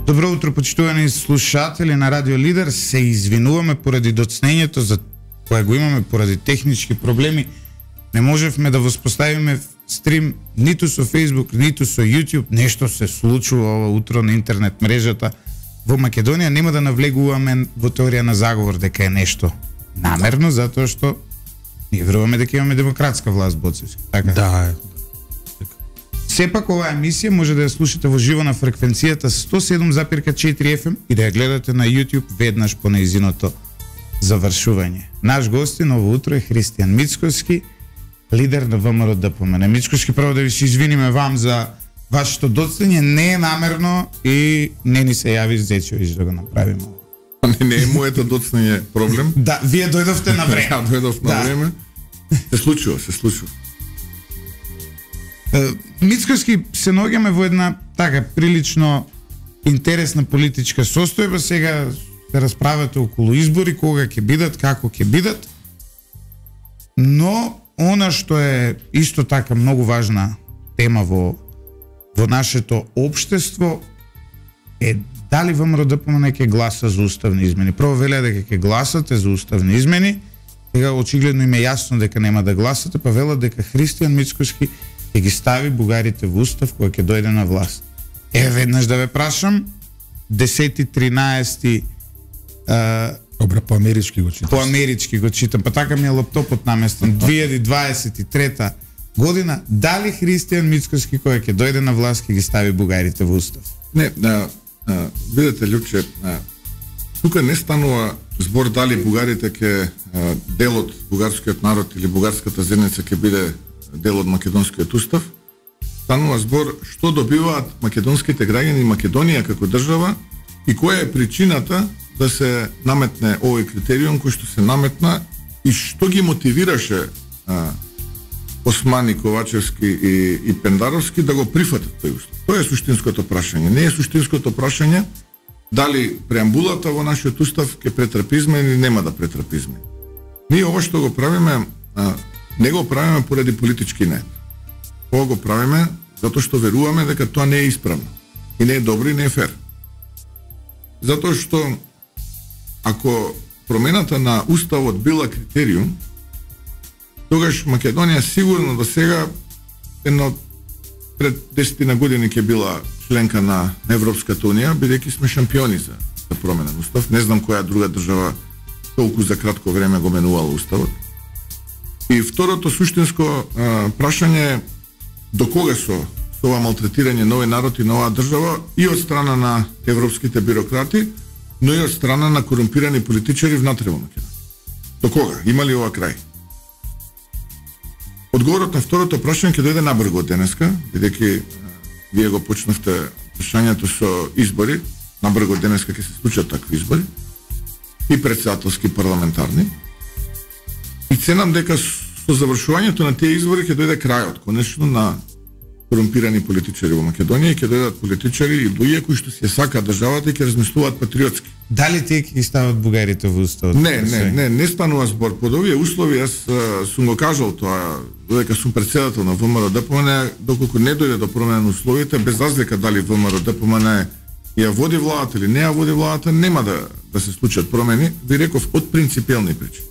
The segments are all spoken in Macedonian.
Добро утро, почитувани слушатели на Радио Лидер. Се извинуваме поради доцнењето за кое го имаме поради технички проблеми. Не можевме да воспоставиме стрим ниту со Facebook, ниту со YouTube. Нешто се случува ова утро на интернет мрежата во Македонија. Нема да навлегуваме во теорија на заговор дека е нешто намерно, затоа што ние веруваме дека имаме демократска власт, Боцевски. Така? Да. Сепак оваа емисија може да ја слушате во живо на фреквенцијата 107,4 FM и да ја гледате на YouTube веднаш по нејзиното завршување. Наш гостин ово утро е Христијан Мицкоски, лидер на ВМРО ДПМН. Мицкоски, прво да ви се извиниме вам за вашето доцнење, не е намерно и не ни се јави Зечович да го направиме. Не е моето доцнење проблем. Да, вие дојдовте на време. Ја дојдов на време. Се случува. Мицкоски, се наоѓаме во една така прилично интересна политичка состојба. Сега се расправате околу избори, кога ќе бидат, како ќе бидат. Но она што е исто така многу важна тема во нашето општество е дали ВМРО ДПМН ќе гласа за уставни измени. Прво велеа дека ќе гласате за уставни измени, сега очигледно им е јасно дека нема да гласате, па велат дека Христијан Мицкоски ќе ги стави бугарите во устав кога ќе дојде на власт. Веднаш да ве прашам, 10-13 по амерички го читам. По амерички го читам, па така ми е лаптопот наместен. 2023 година, дали Христијан Мицкоски кога ќе дојде на власт ќе ги стави бугарите во устав? Не, видете, Лјупче, тука не станува збор дали бугарите ќе дел од бугарскиот народ или бугарската земјица ќе биде дел од македонскиот устав. Станува збор што добиваат македонските граѓани и Македонија како држава и која е причината да се наметне овој критериум кој што се наметна и што ги мотивираше Османи, Ковачевски и Пендаровски да го прифатат тој устав. Тоа е суштинското прашање. Не е суштинското прашање дали преамбулата во нашиот устав ќе претрпи измени или нема да претрпи измени. Ние ова што го правиме, не го правиме поради политички нед. Ова го правиме затоа што веруваме дека тоа не е исправно. И не е добро и не е фер. Затоа што ако промената на уставот била критериум, тогаш Македонија сигурно до сега пред 10 години ќе била членка на Европската унија, бидејќи сме шампиони за променен устав. Не знам која друга држава толку за кратко време го менувала уставот. И второто суштинско прашање е до кога со ова малтретирање на овој народ и на оваа држава и од страна на европските бюрократи, но и од страна на корумпирани политичари внатре во Македонија. До кога? Има ли ова крај? Одговорот на второто прашање ќе дојде набрзо од денеска, бидејќи вие го почнавте прашањето со избори, набрзо од денеска ќе се случат такви избори и претседателски парламентарни. И ценам дека со завршувањето на тие избори ќе дојде крајот, конечно, на корумпирани политичари во Македонија и ќе дојдат политичари и луѓе кои што си сака државата и ќе размислуваат патриотски. Дали тие ќе ги стават бугарите во уставот? Не станува збор под овие услови. Јас сум го кажал тоа, додека сум председател на ВМРО ДПМН, доколку не дојде до промена на условите, без разлика дали ВМРО ДПМН ја води владата или не ја води владата, нема да се случат промени, ви реков од принципиелни причини.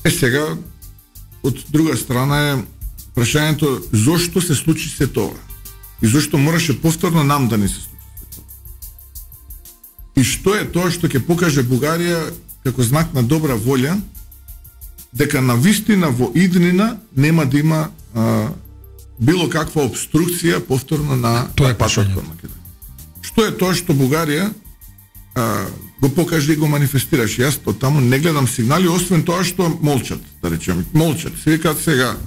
Сега, од друга страна е прашањето зошто се случи се тоа и зошто мораше повторно нам да не се случи се тоа. И што е тоа што ќе покаже Бугарија како знак на добра волја дека на вистина во иднина нема да има било каква обструкција повторно на патот кон Македонија. Што е тоа што Бугарија го покаже и го манифестираше. Јас од таму не гледам сигнали, освен тоа што молчат, да речеме. Молчат. Се викаат сега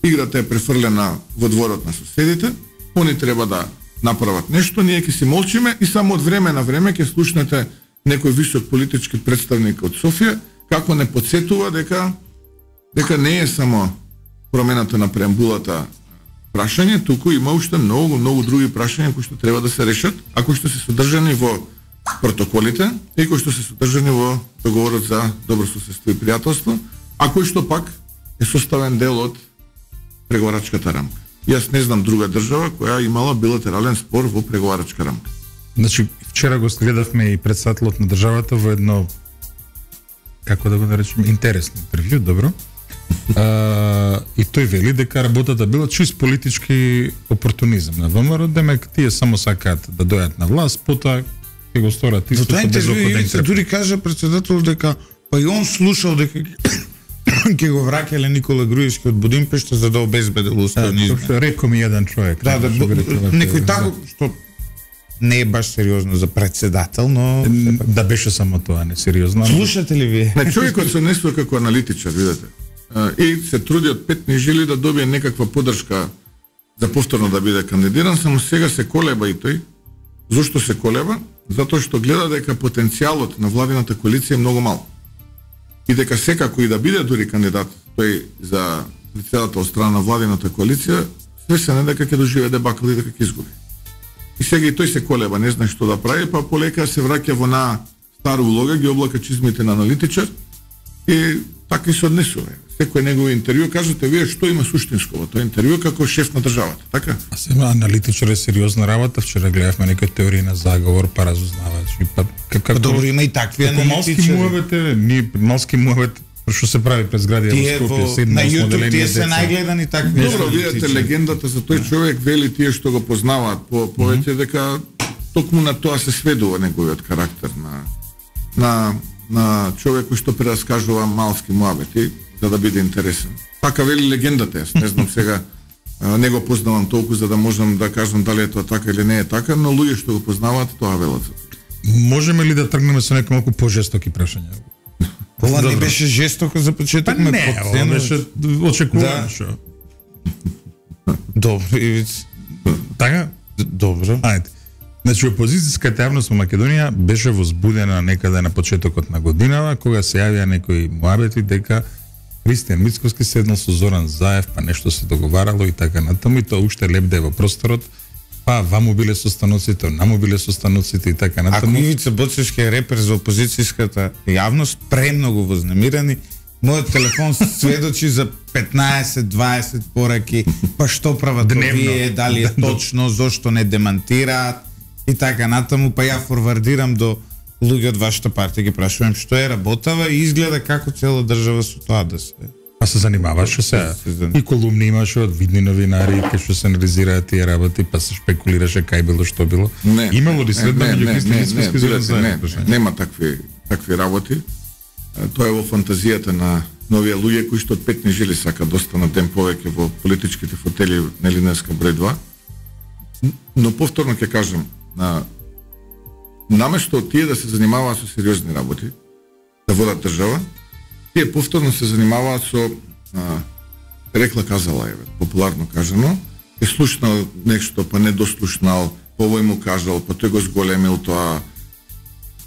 играта е префрлена во дворот на соседите, они треба да направат нешто, ние ќе си молчиме и само од време на време ќе слушнете некој висок политички представник од Софија како не подсетува дека не е само промената на преамбулата прашање, туку има уште многу други прашања кои што треба да се решат, а кои што се содржани во протоколите и кои што се содржани во договорот за добрососедство и пријателство, а кој што пак е составен дел од преговарачката рамка. Јас не знам друга држава која имала билатерален спор во преговарачка рамка. Значи, вчера го гледавме и претседателот на државата во едно, како да го наречем, интересно интервју, добро. И тој вели дека работата била чист политички опортунизам на ВМРО, демек тие само сакаат да дојат на власт, потоа ќе го сторат истото без околден. Дури кажа претседател дека па и он слушал дека ќе го враќале Никола Груевски од Будимпешта за да обезбедил уставни измени. Рекој ми еден човек. Да, некој тако што не е баш сериозно за претседател, но да беше само тоа, не сериозно. Слушате ли вие? На човекот се несува како аналитичар, видите. И се труди од петни жили да добие некаква поддршка за повторно да биде кандидиран, само сега се колеба и тој. Зошто се колеба? Затоа што гледа дека потенцијалот на владината коалиција е многу мал. И дека секако и да биде дури кандидат тој за претседател од страна на владината коалиција, свесен е дека ќе доживее дебакл и дека ќе изгуби. И сега и тој се колеба, не знае што да прави, па полека се враќа во на стара улога, ги облака чизмите на аналитичар и така и се однесува. Секој негово интервју, кажете вие што има суштинско во тоа интервју како шеф на државата, така? А сега аналитичар е сериозна работа, вчера гледавме некои теории на заговор, па разузнавачи, па како добро има и такви аналитичари. Ние малски муавет што се прави пред зградија во Скопје, на YouTube тие се најгледани такви. Добро, видите легендата за тој човек, вели тие што го познаваат повеќе дека токму на тоа се сведува неговиот карактер на човек кој што прераскажува малски муабети за да биде интересен. Така вели легендата, јас не знам сега, не го познавам толку за да можам да кажам дали е тоа така или не е така, но луѓе што го познаваат тоа велат. Можеме ли да тргнеме со некои малку пожестоки прашања? Ова не беше жестоко за почеток, ме подценува. Беше очекувано што. Добро, Ивиц. Така? Добро. Ајде. Значи, опозицијската јавност во Македонија беше возбудена некаде на почетокот на годинава, кога се јавија некои муабети дека Христијан Мицковски седнал со Зоран Заев, па нешто се договарало и така натаму, и тоа уште лепде во просторот, па ваму биле состаноците, наму биле состаноците и така натаму. Ако Ивица Боцевски е репер за опозицијската јавност, премногу вознемирани, мојот телефон сведочи за 15-20 пораки, па што прават вие, дали е точно, зошто не демантираат и така натаму, па ја форвардирам до луѓе од вашата партија, ги прашувам што е работава и изгледа како цела држава со тоа да се. Па се занимаваше се. И колумни имаше од видни новинари кај што се анализираат тие работи, па се шпекулираше кај било што било. Имало ли следба меѓу Христијан Мицковски и Зоран Заев? Нема такви работи. Тоа е во фантазијата на новија луѓе кои што од петни жили сака да останат ден повеќе во политичките фотели на Линеска број 2. Но повторно ќе кажам, наместо тие да се занимаваат со сериозни работи, да водат држава, тие повторно се занимаваат со рекла казала, популарно кажано, е слушнал нешто, па не дослушнал, овој му кажал, па тој го зголемил тоа.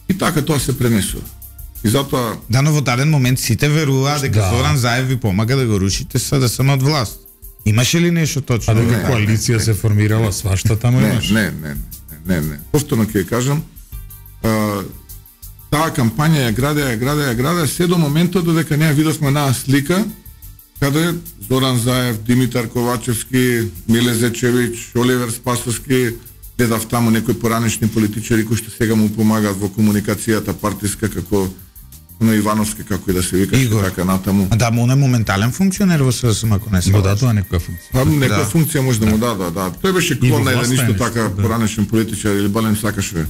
И така тоа се пренесува. И затоа да, но во даден момент сите веруваат дека Зоран Заев ви помага да го рушите СДСМ од власт. Имаше ли нешто точно? А дека коалиција се формирала, свашта таму имаше? Не. Повторно ќе кажам, таа кампања ја градеа се до моментот додека не ја видовме една слика каде Зоран Заев, Димитар Ковачевски, Миле Зечевич, Оливер Спасовски, гледав таму некои поранешни политичари кои што сега му помагаат во комуникацијата партиска, како на Ивановски, како и да се викаше, така натаму. Да, му не моментален функционер во СДСМ, ако не се лажам. Тоа некоја функција. Некоја функција може да му да. Тој беше клон на еден исто така поранешен политичар, или балем сакаше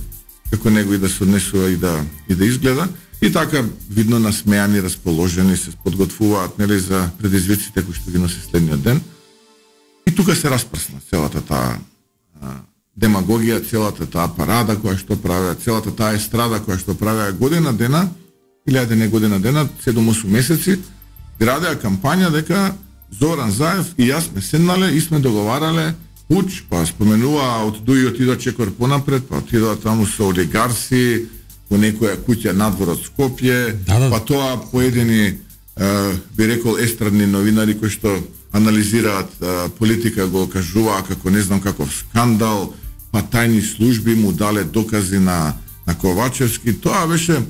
како него и да се однесува и да изгледа. И така видно насмеани, расположени, се подготвуваат нели за предизвиците кои што ги носи следниот ден. И тука се распрсна целата таа демагогија, целата таа парада која што правеа, целата таа естрада која што правеа година дена, илјаде не година дена, 7-8 месеци, градеа кампања дека Зоран Заев и јас сме седнале и сме договарале пуч, па споменува од Дуи отидоа чекор понапред, па отидоа таму со олигарси, во некоја куќа надвор од Скопје, па тоа поедини, би рекол, естрадни новинари кои што анализираат политика го кажуваа како не знам каков скандал, па тајни служби му дале докази на Ковачевски. Тоа беше,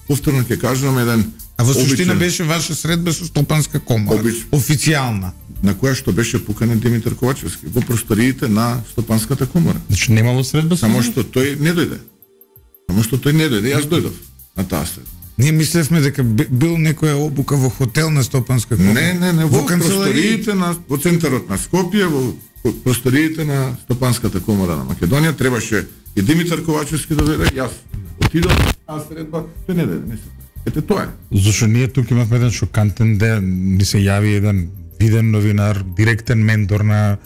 повторно ќе кажам, еден А во суштина беше ваша средба со Стопанска комора, официјална. на која што беше поканен Димитар Ковачевски во просториите на Стопанската комора. Значи немало средба? Само што тој не дојде. Јас дојдов на таа средба. Ние мислевме дека бил некоја обука во хотел на Стопанска комора. Не, во просториите во центарот на Скопје, во просториите на Стопанската комора на Македонија требаше и Димитар Ковачевски да дојде, јас отидов на таа средба, тој не дојде. Ете тоа е. Зашо ние тук имавме еден шокантен ден, ни се јави еден виден новинар, директен ментор на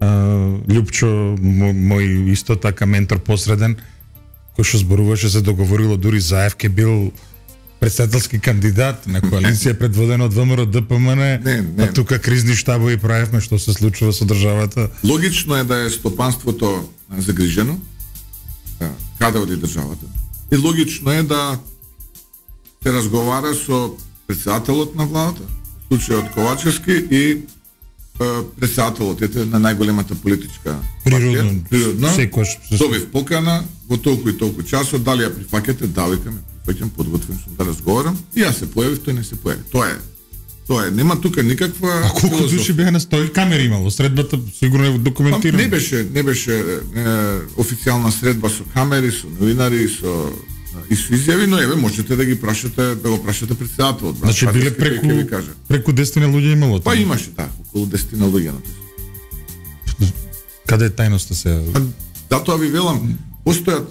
Љупчо, мој исто така ментор посреден, кој што зборуваше, се договорило дури Заев ке бил председателски кандидат на коалиција предводена од ВМРО ДПМН, а тука кризни штабови правевме што се случува со државата. Логично е да е стопанството загрижено, каде оди државата. И логично е да се разговара со председателот на владата, случајот Ковачевски и председателот на најголемата политичка природно. Добив покана во толку и толку часот, дали ја прифаќате, да, викаме, прифаќам, подготвен сум да разговарам, и јас се појавив, тој не се појави. Тоа е, нема тука никаква. А колку души беа на 100 камери имало? Средбата сигурно е документирана. Не беше официјална средба со камери, со новинари, со изјави, но еве можете да ги прашате, да го прашате председателот. Значи биле преку 10 луѓе имало. Па имаше околу 10 луѓе на тоа. Каде е тајноста се? Затоа ви велам, постојат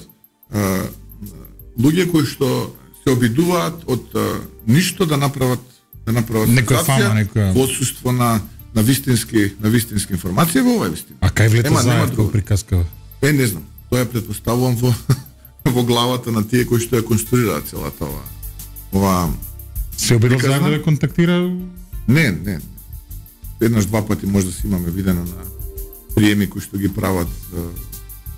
луѓе кои што се обидуваат од ништо да направат некоја фама, некоја во отсуство на вистински информации во оваа вистина. А кај влета Заев кој приказкава? Не знам. Тоа ја претпоставувам во главата на тие кои што ја конструираат целата ова. Се обидел Заев да ве контактира? Не. Еднаш два пати може да си имаме видено на приеми кои што ги прават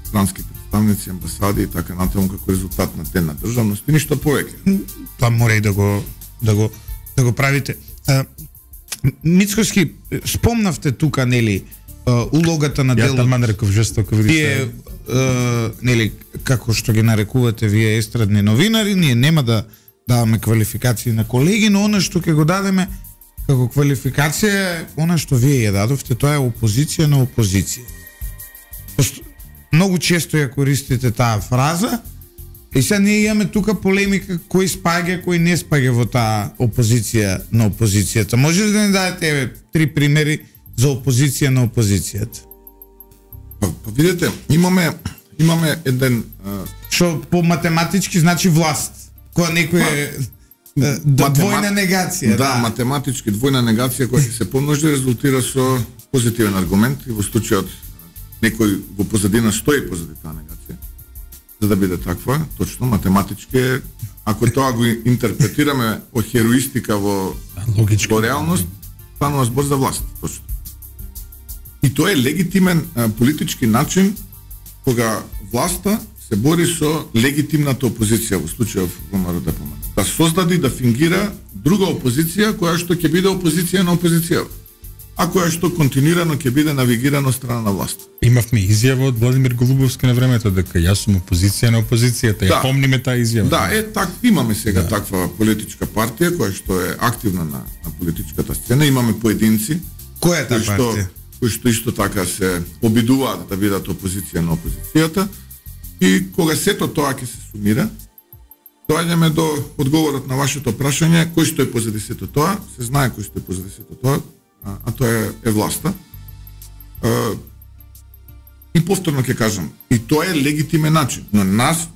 странски представници, амбасади и така натаму како резултат на ден на државност и ништо повеќе. Тоа мора и да го правите. Мицкоски, спомнавте тука, нели, улогата на делот. Ја таман реков жестоко, видите. Нели, како што ги нарекувате вие естрадни новинари, ние нема да даваме квалификации на колеги, но она што ќе го дадеме како квалификација е она што вие ја дадовте, тоа е опозиција на опозиција. Многу често ја користите таа фраза, и сега ние имаме тука полемика кој спаѓа, кој не спаѓа во таа опозиција на опозицијата. Може ли да ни дадете 3 примери за опозиција на опозицијата? Па видите, имаме еден што по математички значи власт, која некој двојна негација. Да, математички двојна негација која ќе се помножи резултира со позитивен аргумент и во случајот некој во позадина стои позади таа негација. За да биде таква, точно математички, ако тоа го интерпретираме од хероистика во реалност, станува збор за власт, точно. И тоа е легитимен политички начин кога власта се бори со легитимната опозиција, во случајов ВМРО ДПМН. Да создаде, да фингира друга опозиција која што ќе биде опозиција на опозиција, а која што континуирано ќе биде навигирана од страна на власт. Имавме изјава од Владимир Голубовски на времето дека јас сум опозиција на опозицијата. Ја помниме таа изјава. Да, имаме сега таква политичка партија која што е активна на политичката сцена, имаме поединци. Која е таа партија? Кои што исто така се обидуваат да бидат опозиција на опозицијата, и кога сето тоа ќе се сумира, доаѓаме до одговорот на вашето прашање, кој што е позади сето тоа, се знае кој што е позади сето тоа, а тоа е власта. И повторно ќе кажам, и тоа е легитимен начин, но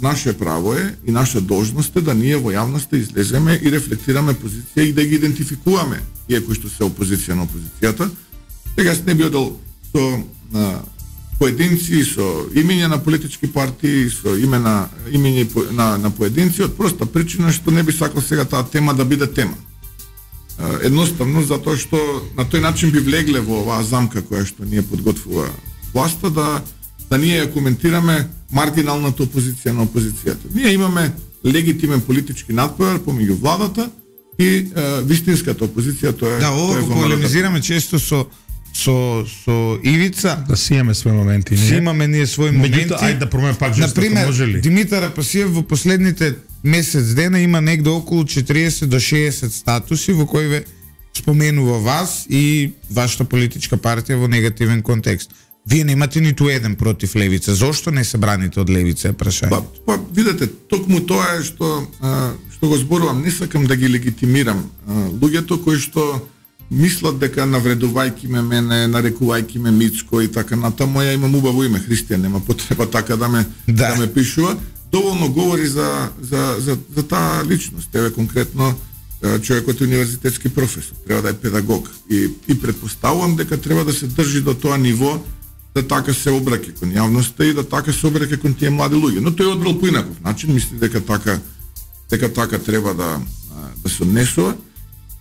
наше право е и наша должност е да ние во јавноста излеземе и рефлектираме позиција и да ги идентификуваме тие кои што се опозиција на опозицијата. Сега не би одел со поединци, со имења на политички партии, со имење на поединци, од проста причина што не би сакал сега таа тема да биде тема. Едноставно затоа што на тој начин би влегле во оваа замка која што ние подготвува власта да ние ја коментираме маргиналната опозиција на опозицијата. Ние имаме легитимен политички надпревар помеѓу владата и вистинската опозиција, тоа е. Да, ова го полемизираме често со Ивица. Да си имаме своји моменти. Си имаме ние своји моменти. Ајде да промене пак жестоко, може ли? Димитар Апасиев во последните месец дена има негде околу 40 до 60 статуси во кои споменува вас и вашата политичка партија во негативен контекст. Вие немате ниту еден против левица. Зошто не се браните од левица, е прашање? Па видете, токму тоа е што го зборувам, не сакам да ги легитимирам луѓето кои што мислат дека навредувајќи мене, нарекувајќи ме Мицко и така натаму, ја имам убаво име, Христијан, нема потреба така да ме пишува. Доволно говори за таа личност. Еве конкретно човекот е универзитетски професор, треба да е педагог и претпоставувам дека треба да се држи до тоа ниво да така се обраќа кон јавноста и да така се обраќа кон тие млади луѓе. Но тој одбрал по инаков начин, мисли дека така треба да се однесува,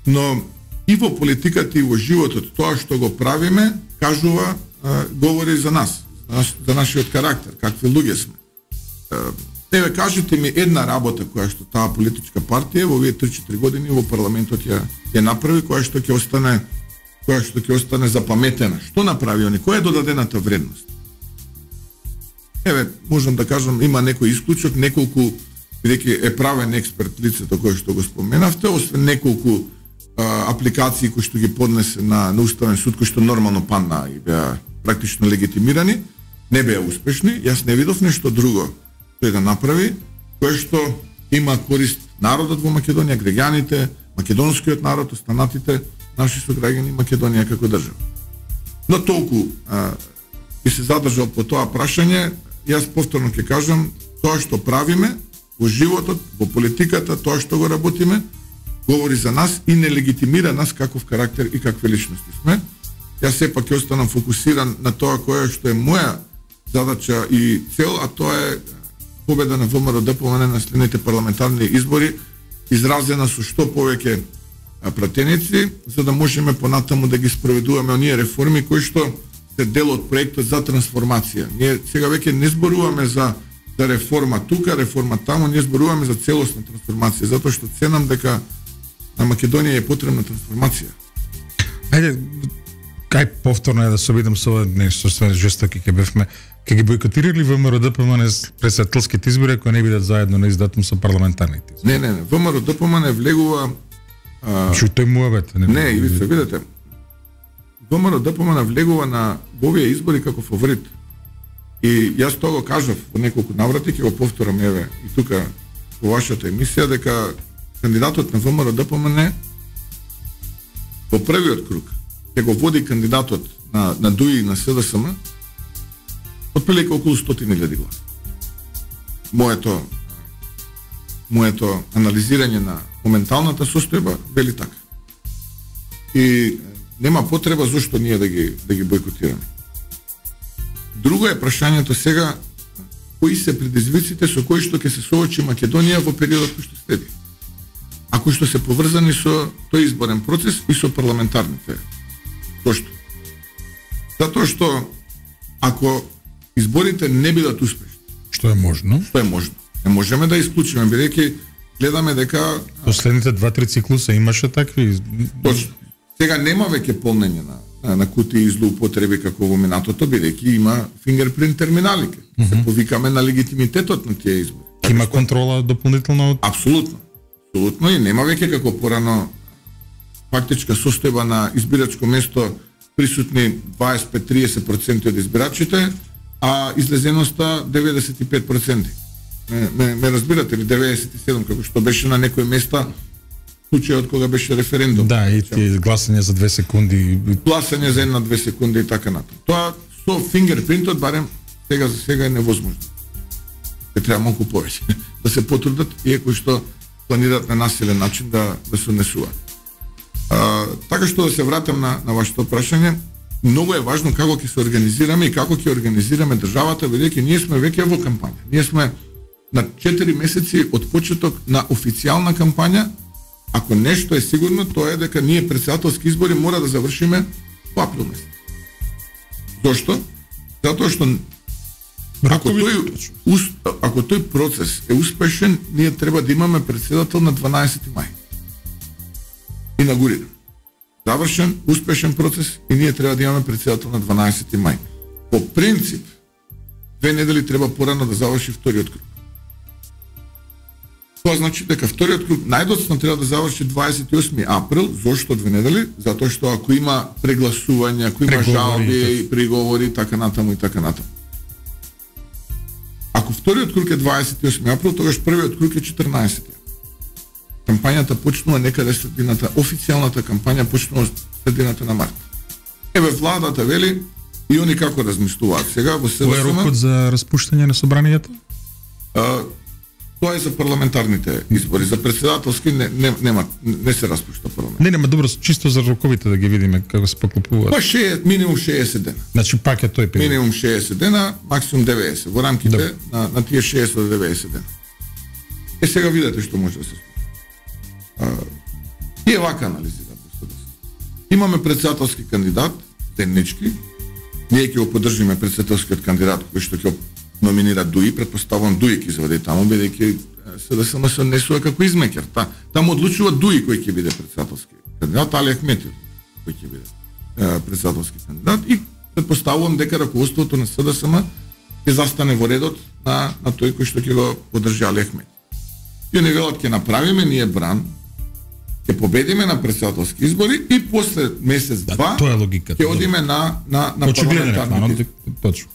но и во политиката и во животот тоа што го правиме кажува, говори за нас, за нашиот карактер, какви луѓе сме. Еве кажете ми една работа која што таа политичка партија во овие 3-4 години во парламентот ја направи, која што ќе остане запаметена. Што направи они? Која е додадената вредност? Еве, можам да кажам, има некој исклучок, неколку, бидејќи е правен експерт лицето кој што го споменавте, освен неколку апликации кои што ги поднесе на Уставен суд, кои што нормално падна и беа практично легитимирани, не беа успешни. Јас не видов нешто друго тој да направи, кое што има корист народот во Македонија, граѓаните, македонскиот народ, останатите наши сограѓани Македонија како држава. Но толку и се задржал по тоа прашање, јас повторно ќе кажам, тоа што правиме во животот, во политиката, тоа што го работиме, говори за нас и не легитимира нас каков карактер и какви личности сме. Јас сепак ќе останам фокусиран на тоа кое што е моја задача и цел, а тоа е победа на ВМРО-ДПМН на следните парламентарни избори, изразена со што повеќе пратеници, за да можеме понатаму да ги спроведуваме оние реформи кои што се дел од проектот за трансформација. Ние сега веќе не зборуваме за реформа тука, реформа таму, ние зборуваме за целосна трансформација, затоа што ценам дека на Македонија е потребна трансформација. Ајде, кај повторно да се обидам со ова нешто, што жестоки ќе бевме. Ке ги бойкотирали ВМРО-ДПМН председателските избори ако не бидат заедно на издатум со парламентарните избори? Не. ВМРО-ДПМН влегува Шо тој муабет? Не, и се видите. ВМРО-ДПМН влегува во овие избори како фаворит. И јас тоа го кажав во неколку наврати, ќе го повторам еве и тука во вашата емисија, дека кандидатот на ВМРО-ДПМН во првиот круг ќе го води кандидатот на ДУИ и на СДСМ отприлика околу 100.000 гласа. Моето анализирање на моменталната состојба вели така. И нема потреба зошто ние да ги бойкотираме. Друго е прашањето сега, кои се предизвиците со кои што ќе се соочи Македонија во периодот кој што следи, а кои што се поврзани со тој изборен процес и со парламентарните. Зошто? Затоа што ако изборите не бидат успешни, што е можно? Не можеме да исклучиме, бидејќи гледаме дека последните 2-3 циклуса имаше такви. Точно. Сега нема веќе полнење на кутии и злоупотреби како во минатото, бидејќи има фингерпринт терминалите. Се повикаме на легитимитетот на тие избори. Има контрола дополнително? Апсолутно и нема веќе како порано фактичка состојба на избирачко место присутни 25-30% од избирачите, а излезеноста 95%. Ме разбирате ли, 97 како што беше на некои места случајот кога беше референдум. Да, и тие гласање за 2 секунди. Гласање за 1-2 секунди и така натаму. Тоа со фингерпринтот барем сега за сега е невозможно. Треба малку повеќе да се потрудат и кои што планираат на насилен начин да се однесуваат. Така што да се вратам на вашето прашање, многу е важно како ќе се организираме и како ќе организираме државата, бидејќи ние сме веќе во кампања. Ние сме на 4 месеци од почеток на официјална кампања. Ако нешто е сигурно, тоа е дека ние претседателски избори мора да завршиме во април месец. Зошто? Затоа што ако тој процес е успешен, ние треба да имаме претседател на 12 мај. Инаугуриран. Завршен, успешен процес и ние треба да имаме претседател на 12 мај. По принцип, 2 недели треба порано да заврши вториот круг. Тоа значи дека вториот круг најдоцна треба да заврши 28 април, зошто 2 недели? Затоа што ако има прегласување, ако има жалби и приговори, така натаму и така натаму. Ако вториот круг е 28 април, тогаш првиот круг е 14. Кампањата почнува некаде средината, официјалната кампања почнува средината на март. Еве владата вели и они како размислуваат сега во СДСМ. Кој е рокот за распуштање на собранието? Тоа е за парламентарните избори, за председателски не се распушта парламент. Нема добро, чисто за роковите да ги видиме како се поклопуваат. Па минимум 60 дена. Значи пак е тој период. Минимум 60 дена, максимум 90, во рамките на тие 60 до 90 дена. Сега видете што може да се случи. Тие вака анализираме. Имаме председателски кандидат, Денички. Ние ќе го поддржиме председателскиот кандидат кој што ќе номинира Дуи, предпоставувам Дуи ќе заведе таму, бидејќи СДСМ се однесува како измекер. Таму одлучува Дуи кој ќе биде председателски кандидат, Али Ахметов кој ќе биде председателски кандидат и предпоставувам дека раководството на СДСМ ќе застане во редот на тој кој што ќе го поддржи Али Ахметов. Тие не велат ќе направиме ние бран, ќе победиме на председателски избори и после месец-два ќе одиме на парламентарни. Точно.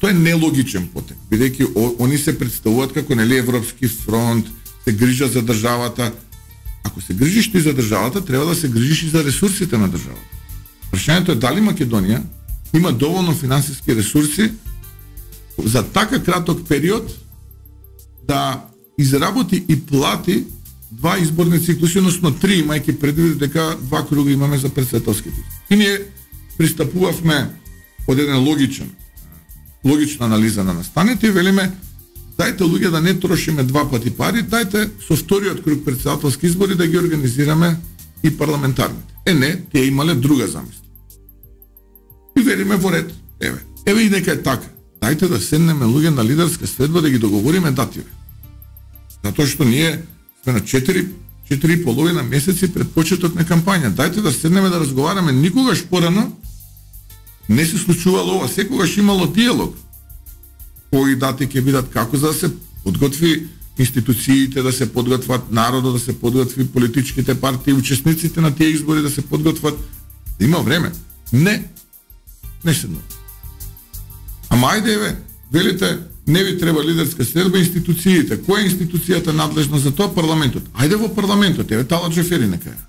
Тоа е нелогичен потек, бидејќи они се представуваат како нели Европски фронт, се грижат за државата. Ако се грижиш ти за државата, треба да се грижиш и за ресурсите на државата. Прашањето е дали Македонија има доволно финансиски ресурси за така краток период да изработи и плати 2 изборни циклуси, односно 3, имајќи предвид дека 2 круга имаме за председателските. И ние пристапувавме од еден логична анализа на настаните и велиме дајте луѓе да не трошиме 2 пати пари, дајте со вториот круг председателски избори да ги организираме и парламентарните. Не, тие имале друга замисла. И велиме во ред, еве и дека е така. Дајте да седнеме луѓе на лидерска средба да ги договориме дативе. Затоа што ние сме на 4,5 месеци пред почеток на кампања. Дајте да седнеме да разговараме. Никогаш порано не се случувало ова, секогаш имало диалог. Кои дати ќе бидат, како за да се подготви институциите, да се подготват народот, да се подготви политичките партии, учесниците на тие избори да се подготват. Да има време. Не седнува. Ама ајде еве, велите, не ви треба лидерска средба, институциите. Која е институцијата надлежна за тоа? Парламентот. Ајде во парламентот, еве Талат Џафери нека ја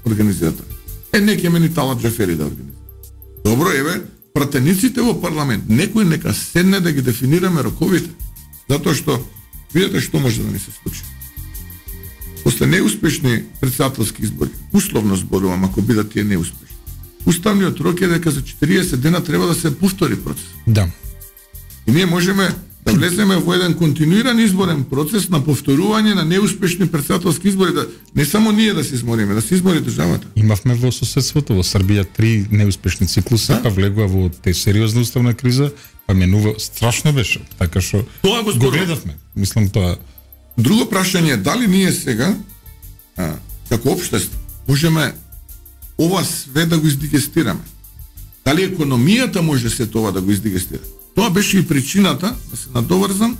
организира тоа. Не ќе мени Талат Џафери да организира. Добро, еве, пратениците во парламент, некој нека седне да ги дефинираме роковите. Затоа што, видите што може да ни се случи. После неуспешни председателски избори, условно зборувам, ако бидат тие неуспешни, уставниот рок е дека за 40 дена треба да се повтори процес. Да. И ние можеме да влеземе во еден континуиран изборен процес на повторување на неуспешни председателски избори, да не само ние да се измориме, да се измори државата. Имавме во соседството во Србија 3 неуспешни циклуси, па влегува во сериозна уставна криза, па менува, страшно беше, така што го гледавме. Мислам тоа. Друго прашање е дали ние сега како општество можеме ова све да го издигестираме. Дали економијата може се тоа да го издигестира? Тоа беше и причината, да се надоврзам,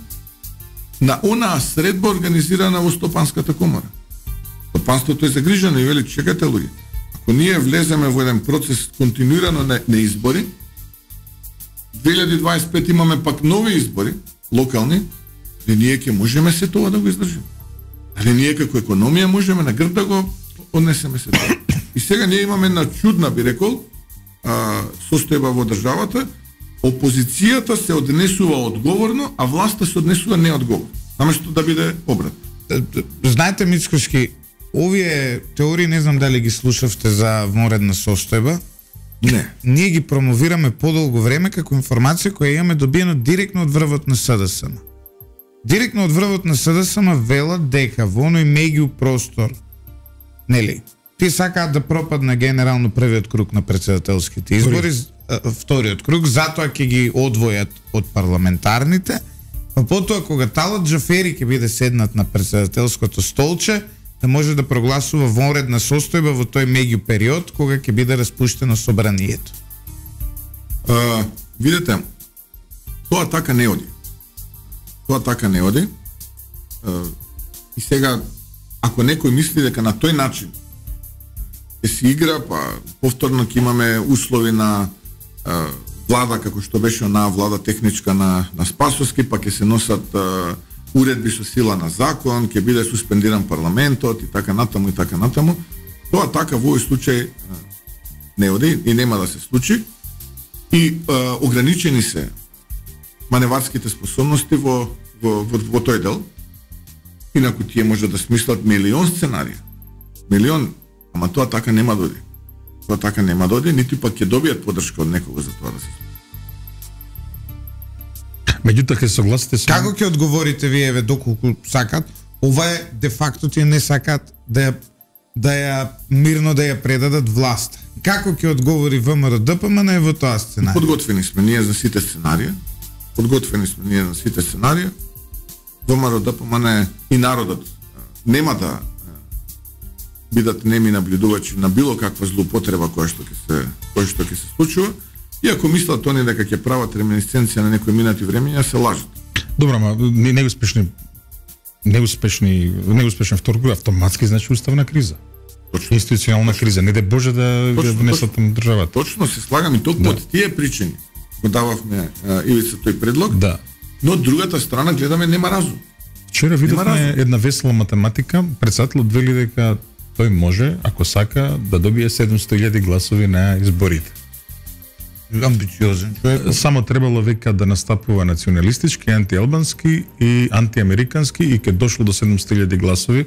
на онаа средба организирана во Стопанската комора. Стопанството е загрижено и вели, чекате луѓе, ако ние влеземе во еден процес континуирано на избори, 2025 имаме пак нови избори, локални, и ние ќе можеме се тоа да го издржиме. Али ние како економија можеме на грб да го однесеме се тоа. И сега ние имаме една чудна, би рекол, состојба во државата. Опозицијата се однесува одговорно, а власта се однесува неодговорно. Наместо да биде обрат. Знаете, Мицкошки, овие теории не знам дали ги слушавте за вонредна состојба. Не. Ние ги промовираме подолго време како информација која имаме добиено директно од врвот на СДСМ. Директно од врвот на СДСМ велат дека во оној меѓу простор, нели, тие сакаат да пропадне генерално првиот круг на председателските избори, вториот круг, затоа ќе ги одвојат од парламентарните, па потоа кога Талат Џафери ќе биде седнат на председателското столче, да може да прогласува вонредна состојба во тој меѓу период кога ќе биде распуштено собранието. Видете, тоа така не оди. Тоа така не оди. и сега ако некој мисли дека на тој начин ќе се игра, па повторно ќе имаме услови на влада како што беше онаа влада техничка на Спасовски, па ќе се носат уредби со сила на закон, ќе биде суспендиран парламентот и така натаму. Тоа така во овој случај не оди и нема да се случи. И ограничени се маневарските способности во тој дел. Инаку тие може да смислат милион сценарија. Ама тоа така нема да оди. Тоа така нема да оди, нити пак ќе добијат подршка од некого за тоа да се. Меѓутоа ќе согласите со Како ќе одговорите вие доколку сакат? Ова е де факто тие не сакат да ја мирно да ја предадат власта. Како ќе одговори ВМРО ДПМН во тоа сценарија? Подготвени сме ние за сите сценарија. ВМРО ДПМН и народот нема да бидат неми наблюдувачи на било каква злоупотреба која што ќе се случува. И ако мислат они дека ќе прават реминисценција на некои минати времења, се лажат. Добро, ама неуспешен втор круг автоматски значи уставна криза. Точно. Институционална криза, не де Боже да внесат на државата. Точно се слагам и толку од тие причини го дававме Ивица тој предлог. Да. Но од другата страна гледаме нема разум. Вчера видовме една весела математика, председателот вели дека тој може, ако сака, да добие 700.000 гласови на изборите. Амбициозен човек. Само требало века да настапува националистички, антиалбански и антиамерикански и ке дошло до 700.000 гласови.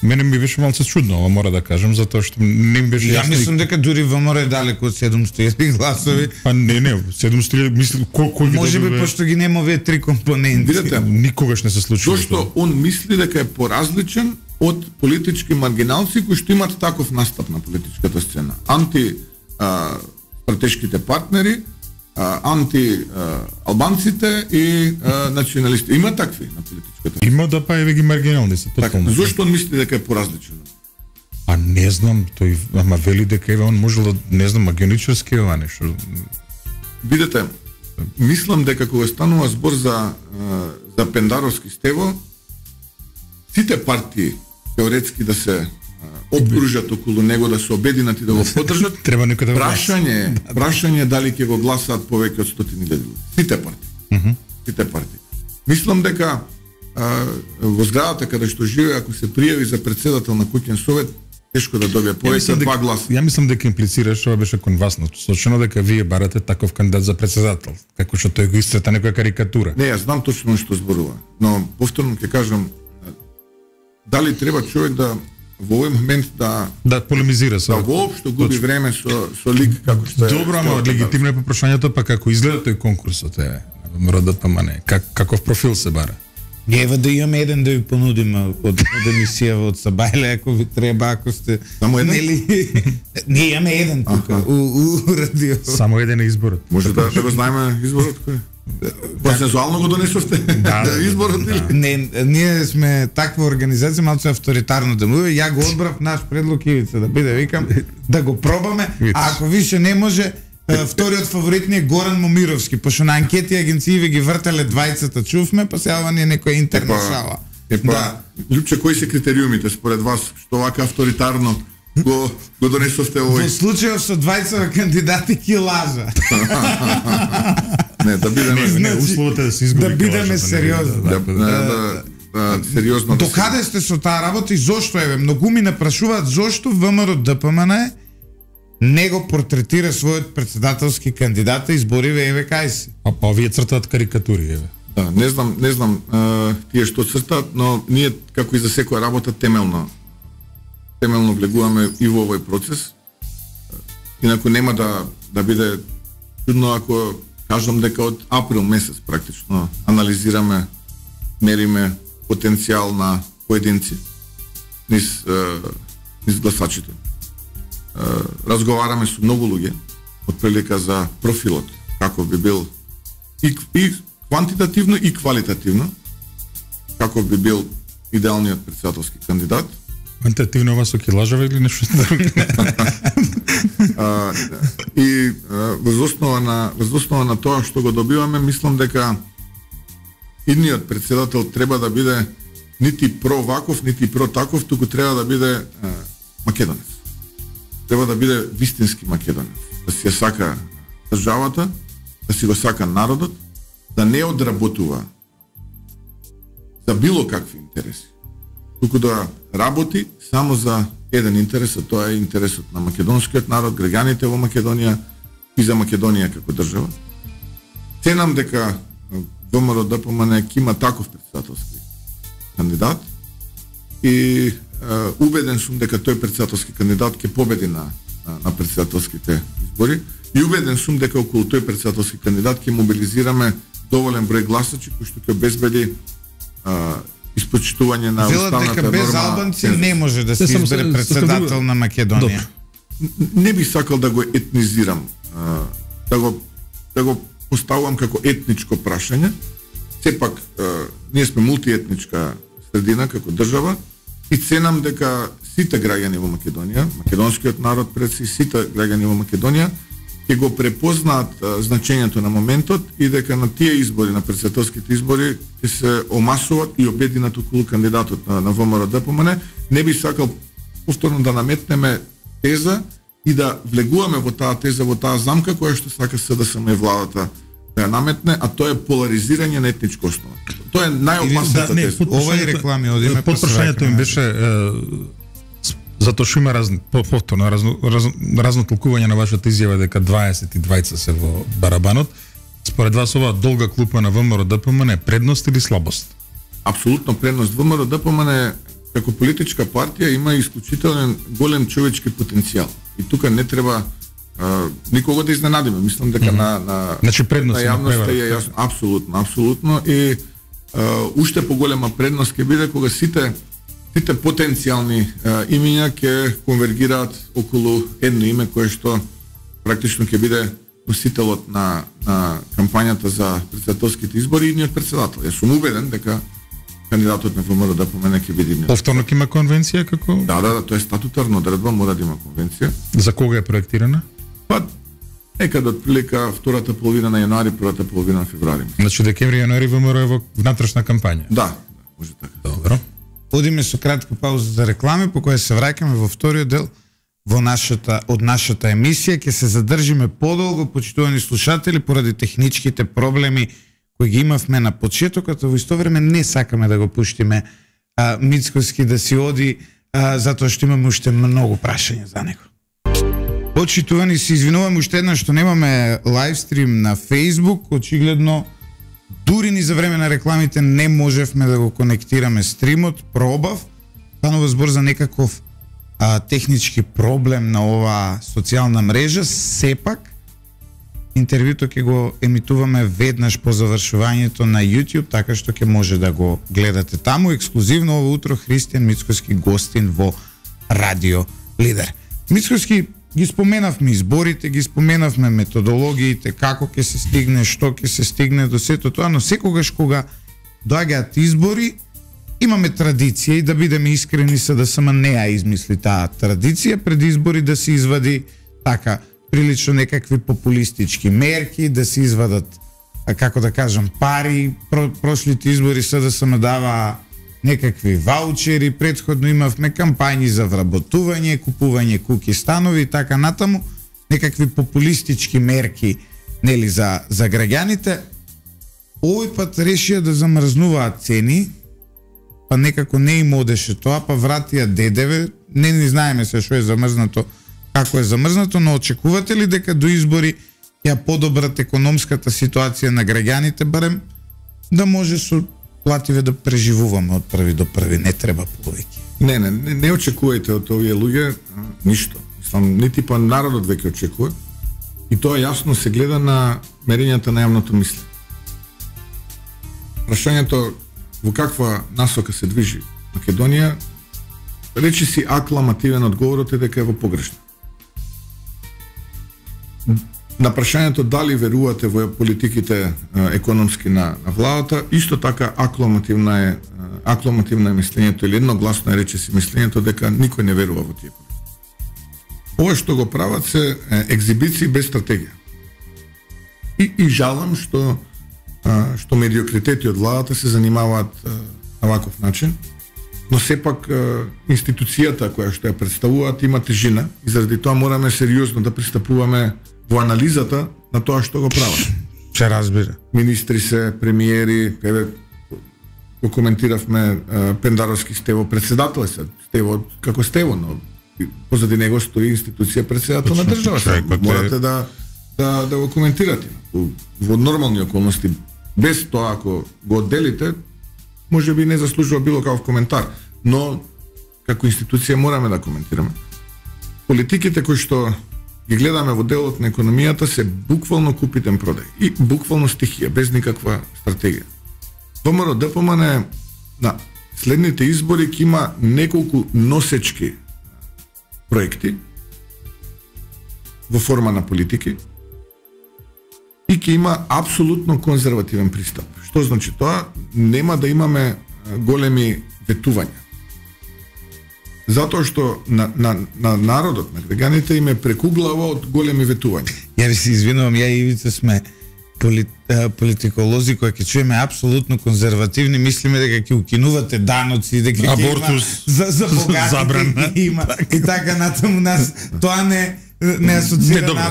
Мене ми беше малце чудно, ова мора да кажам, затоа што не ми беше јасно. Ја мислам дека дури ВМРО е далеко од 700.000 гласови. Па не, 700.000, мислам кој може би пошто ги нема овие три компоненти. Видете, никогаш не се случува. Зошто он мисли дека е поразличен од политички маргиналци кои што имат таков настап на политичката сцена. Стратешките партнери, анти-албанците и националисти. Има такви на политичката. Има да па еве ги маргинални се тотално. Зошто он мисли дека е поразличен? А не знам, тој ама вели дека еве он можел да не знам магионичарски ова нешто. Видете, мислам дека кога станува збор за Пендаровски Стево, сите партии теоретски да се обкружат околу него, да се обединат и да го поддржат. Треба некој да прашање дали ќе го гласаат повеќе од 100.000 луѓе. Сите партии. Сите партии. Мислам дека во зградата каде што живее, ако се пријави за председател на куќен совет, тешко да добие повеќе од 2 гласа. Ја мислам дека имплицираш, ова беше кон вас насочено дека вие барате таков кандидат за председател, како што тој го исцрта некоја карикатура. Не, јас знам точно што зборува, но повторно ќе кажам, дали треба човек да во овој момент да полемизира со воопшто губи време со лик како што е. Добро, ама легитимно е прашањето, па како изгледа тој конкурсот е ВМРО ДПМН, каков профил се бара? Ева да имаме еден да ви понудиме од емисија од Сабајле, ако ви треба, ако сте... Само еден? Не, имаме еден тука, у радио. Само еден е изборот. Може да го знаеме изборот кој? Консензуално го донесовте изборот или? Не, ние сме таква организација, малку авторитарно делува. Ја го одбрав наш предлог Ивица да биде, викам, да го пробаме, а ако више не може, вториот фаворит ни е Горан Момировски, пошто на анкети агенции ги вртеле двајцата, чувме, па сега ни е некоја интерна шала. Лјупче, кои се критериумите според вас, што вака авторитарно го донесовте овој? Во случајот со двајцата кандидати ки лажа. Не, да бидеме условите да се изгуби. Да бидеме сериозни. Сериозно. Докаде сте со таа работа и зошто еве многу ми напрашуваат зошто ВМРО ДПМН не го портретира својот председателски кандидат и избориве еве кај се. Па овие цртаат карикатури еве. Да, не знам тие што цртаат, но ние како и за секоја работа темелно влегуваме и во овој процес. Инаку нема да биде чудно ако кажам дека од април месец практично анализираме, мериме потенцијал на поединци низ гласачите. Разговараме со многу луѓе од прилика за профилот, како би бил и квантитативно и квалитативно, како би бил идеалниот председателски кандидат. Квантитативно ова со килажава или нешто друго? И воз основа на тоа што го добиваме, мислам дека идниот председател треба да биде нити про ваков, нити про таков, туку треба да биде македонец. Треба да биде вистински македонец. Да си ја сака државата, да си го сака народот, да не одработува за било какви интереси, туку да работи само за еден интерес, а тоа е интересот на македонскиот народ, граѓаните во Македонија и за Македонија како држава. Ценам дека ВМРО ДПМН ќе има таков председателски кандидат и убеден сум дека тој председателски кандидат ќе победи на председателските избори и убеден сум дека околу тој председателски кандидат ќе мобилизираме доволен број гласачи кои што ќе обезбеди испочитување на уставната норма. Велат дека без албанци не може да се избере председател на Македонија. Не би сакал да го етнизирам, да го поставувам како етничко прашање. Сепак ние сме мултиетничка средина како држава и ценам дека сите граѓани во Македонија, македонскиот народ пред сите граѓани во Македонија ќе го препознаат значењето на моментот и дека на тие избори, на председателските избори, ќе се омасуваат и обединат околу кандидатот на ВМРО ДПМН. Не би сакал повторно да наметнеме теза и да влегуваме во таа теза, во таа замка која што сака СДСМ и владата да ја наметне, а тоа е поларизирање на етничка основа. Тоа е најопасната теза. Ова и реклами одиме по прашањето им беше затоа што има повторно разно толкување на вашата изјава дека 20 и 20 се во барабанот. Според вас оваа долга клупа на ВМРО ДПМН е предност или слабост? Апсолутно предност. ВМРО ДПМН како политичка партија има исклучителен голем човечки потенцијал. И тука не треба никого да изненадиме. Мислам дека значи предност на јавноста е јасно. Апсолутно и уште поголема предност ќе биде кога сите потенцијални имиња ќе конвергираат околу едно име кое што практично ќе биде носителот на кампањата за председателските избори и ниот председател. Јас сум убеден дека кандидатот на ВМРО ДПМН ќе биде ниот. Повторно ќе има конвенција како? Да, тоа е статутарна одредба, мора да има конвенција. За кога е проектирана? Па некаде од прилика втората половина на јануари, првата половина на февруари. Значи декември, јануари ВМРО е во внатрешна кампања. Да, може така. Добро. Одиме со кратка пауза за реклами, по која се враќаме во вториот дел од нашата емисија. Ќе се задржиме подолго, почитувани слушатели, поради техничките проблеми кои ги имавме на почетокот, а во исто време не сакаме да го пуштиме Мицкоски да си оди, затоа што имаме уште многу прашања за него. Почитувани, се извинувам уште еднаш што немаме лайвстрим на Facebook, очигледно дури ни за време на рекламите не можевме да го конектираме стримот, пробав, станува збор за некаков технички проблем на оваа социјална мрежа, сепак интервјуто ќе го емитуваме веднаш по завршувањето на YouTube, така што ќе може да го гледате таму. Ексклузивно ово утро Христијан Мицкоски гостин во Радио Лидер. Мицкоски, ги споменавме изборите, ги споменавме методологиите, како ќе се стигне, што ќе се стигне до сето тоа, но секогаш кога доаѓаат избори, имаме традиција и да бидеме искрени, СДСМ не ја измисли таа традиција пред избори да се извади така прилично некакви популистички мерки, да се извадат, како да кажам, пари. Прошлите избори СДСМ дава некакви ваучери, предходно имавме кампањи за вработување, купување куќи, станови и така натаму, некакви популистички мерки, нели, за граѓаните. Овој пат решија да замрзнуваат цени, па некако не им одеше тоа, па вратија ДДВ, не знаеме се што е замрзнато, како е замрзнато, но очекувате ли дека до избори ја подобрат економската ситуација на граѓаните, барем да може со плативе да преживуваме од први до први, не треба повеќе? Не очекувајте од овие луѓе ништо. Мислам, нити па народот веќе очекува. И тоа јасно се гледа на мерењата на јавното мислење. Прашањето во каква насока се движи Македонија, речи си акламативен одговорот е дека е во погрешна. На прашањето дали верувате во политиките економски на владата, исто така акламативна е мислењето или едногласно е рече си мислењето дека никој не верува во тие политики. Ова што го прават се екзибиции без стратегија. И жалам што медиокритети од владата се занимаваат на ваков начин, но сепак институцијата која што ја представуваат има тежина и заради тоа мораме сериозно да пристапуваме во анализата на тоа што го прават. Се разбира. Министри се, премиери, еве го коментиравме Пендаровски Стево председател се, Стево како Стево, но позади него стои институција председател на државата. Морате да го коментирате. Во нормални околности, без тоа ако го одделите, може би не заслужува било каков коментар, но како институција мораме да коментираме. Политиките кои што ги гледаме во делот на економијата се буквално купитен продај и буквално стихија, без никаква стратегија. ВМРО ДПМН на следните избори ќе има неколку носечки проекти во форма на политики и ќе има апсолутно конзервативен пристап. Што значи тоа? Нема да имаме големи ветувања. Затоа што на народот, на граѓаните им е прекуглава од големи ветувања. Ја ви се извинувам, ја и Ивица сме политиколози кои ќе чуеме апсолутно конзервативни, мислиме дека ќе укинувате даноци, дека абортус за богатите има и така натаму нас тоа не асоцира на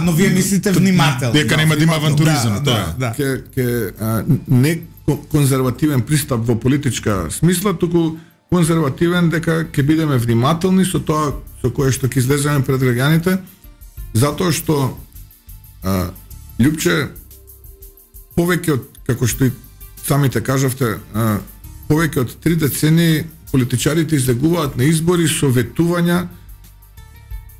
но вие мислите внимателно. Дека нема да има авантуризам, тоа. Не конзервативен пристап во политичка смисла, туку конзервативен дека ќе бидеме внимателни со тоа со кое што ќе излеземе пред граѓаните, затоа што Љупче, повеќе од, како што и самите кажавте, повеќе од 3 децении политичарите излегуваат на избори со ветувања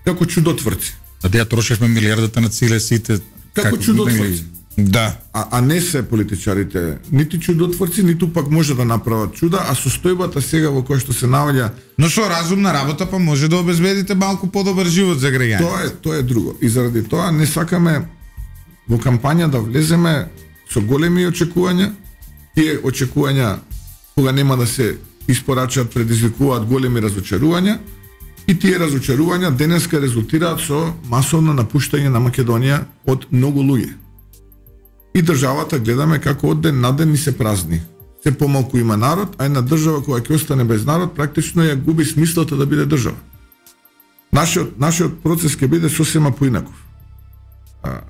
како чудотворци. А да ја трошевме милиардата на целесите како чудотворци. Да. А не се политичарите нити чудотворци, ниту пак може да направат чуда, а состојбата сега во која што се наоѓа. Но со разумна работа па може да обезбедите малку подобар живот за граѓаните. Тоа е друго. И заради тоа не сакаме во кампања да влеземе со големи очекувања. Тие очекувања кога нема да се испорачаат предизвикуваат големи разочарувања и тие разочарувања денеска резултираат со масовно напуштање на Македонија од многу луѓе. И државата гледаме како од ден на ден ни се празни. Се помалку има народ, а една држава која ќе остане без народ практично ја губи смислото да биде држава. Нашиот процес ќе биде сосема поинаков.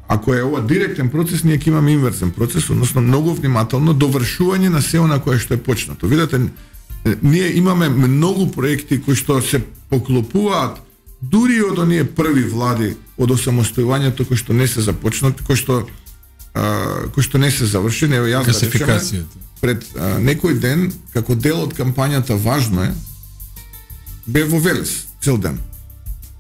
Ако е ова директен процес, ние ќе имаме инверсен процес, односно многу внимателно довршување на се она кое што е почнато. Видете, ние имаме многу проекти кои што се поклопуваат дури од оние први влади од осамостојувањето кои што не се започнати, кои што не се завршени. Ево јас да речеме, пред некој ден, како дел од кампањата Важно е, бе во Велес цел ден.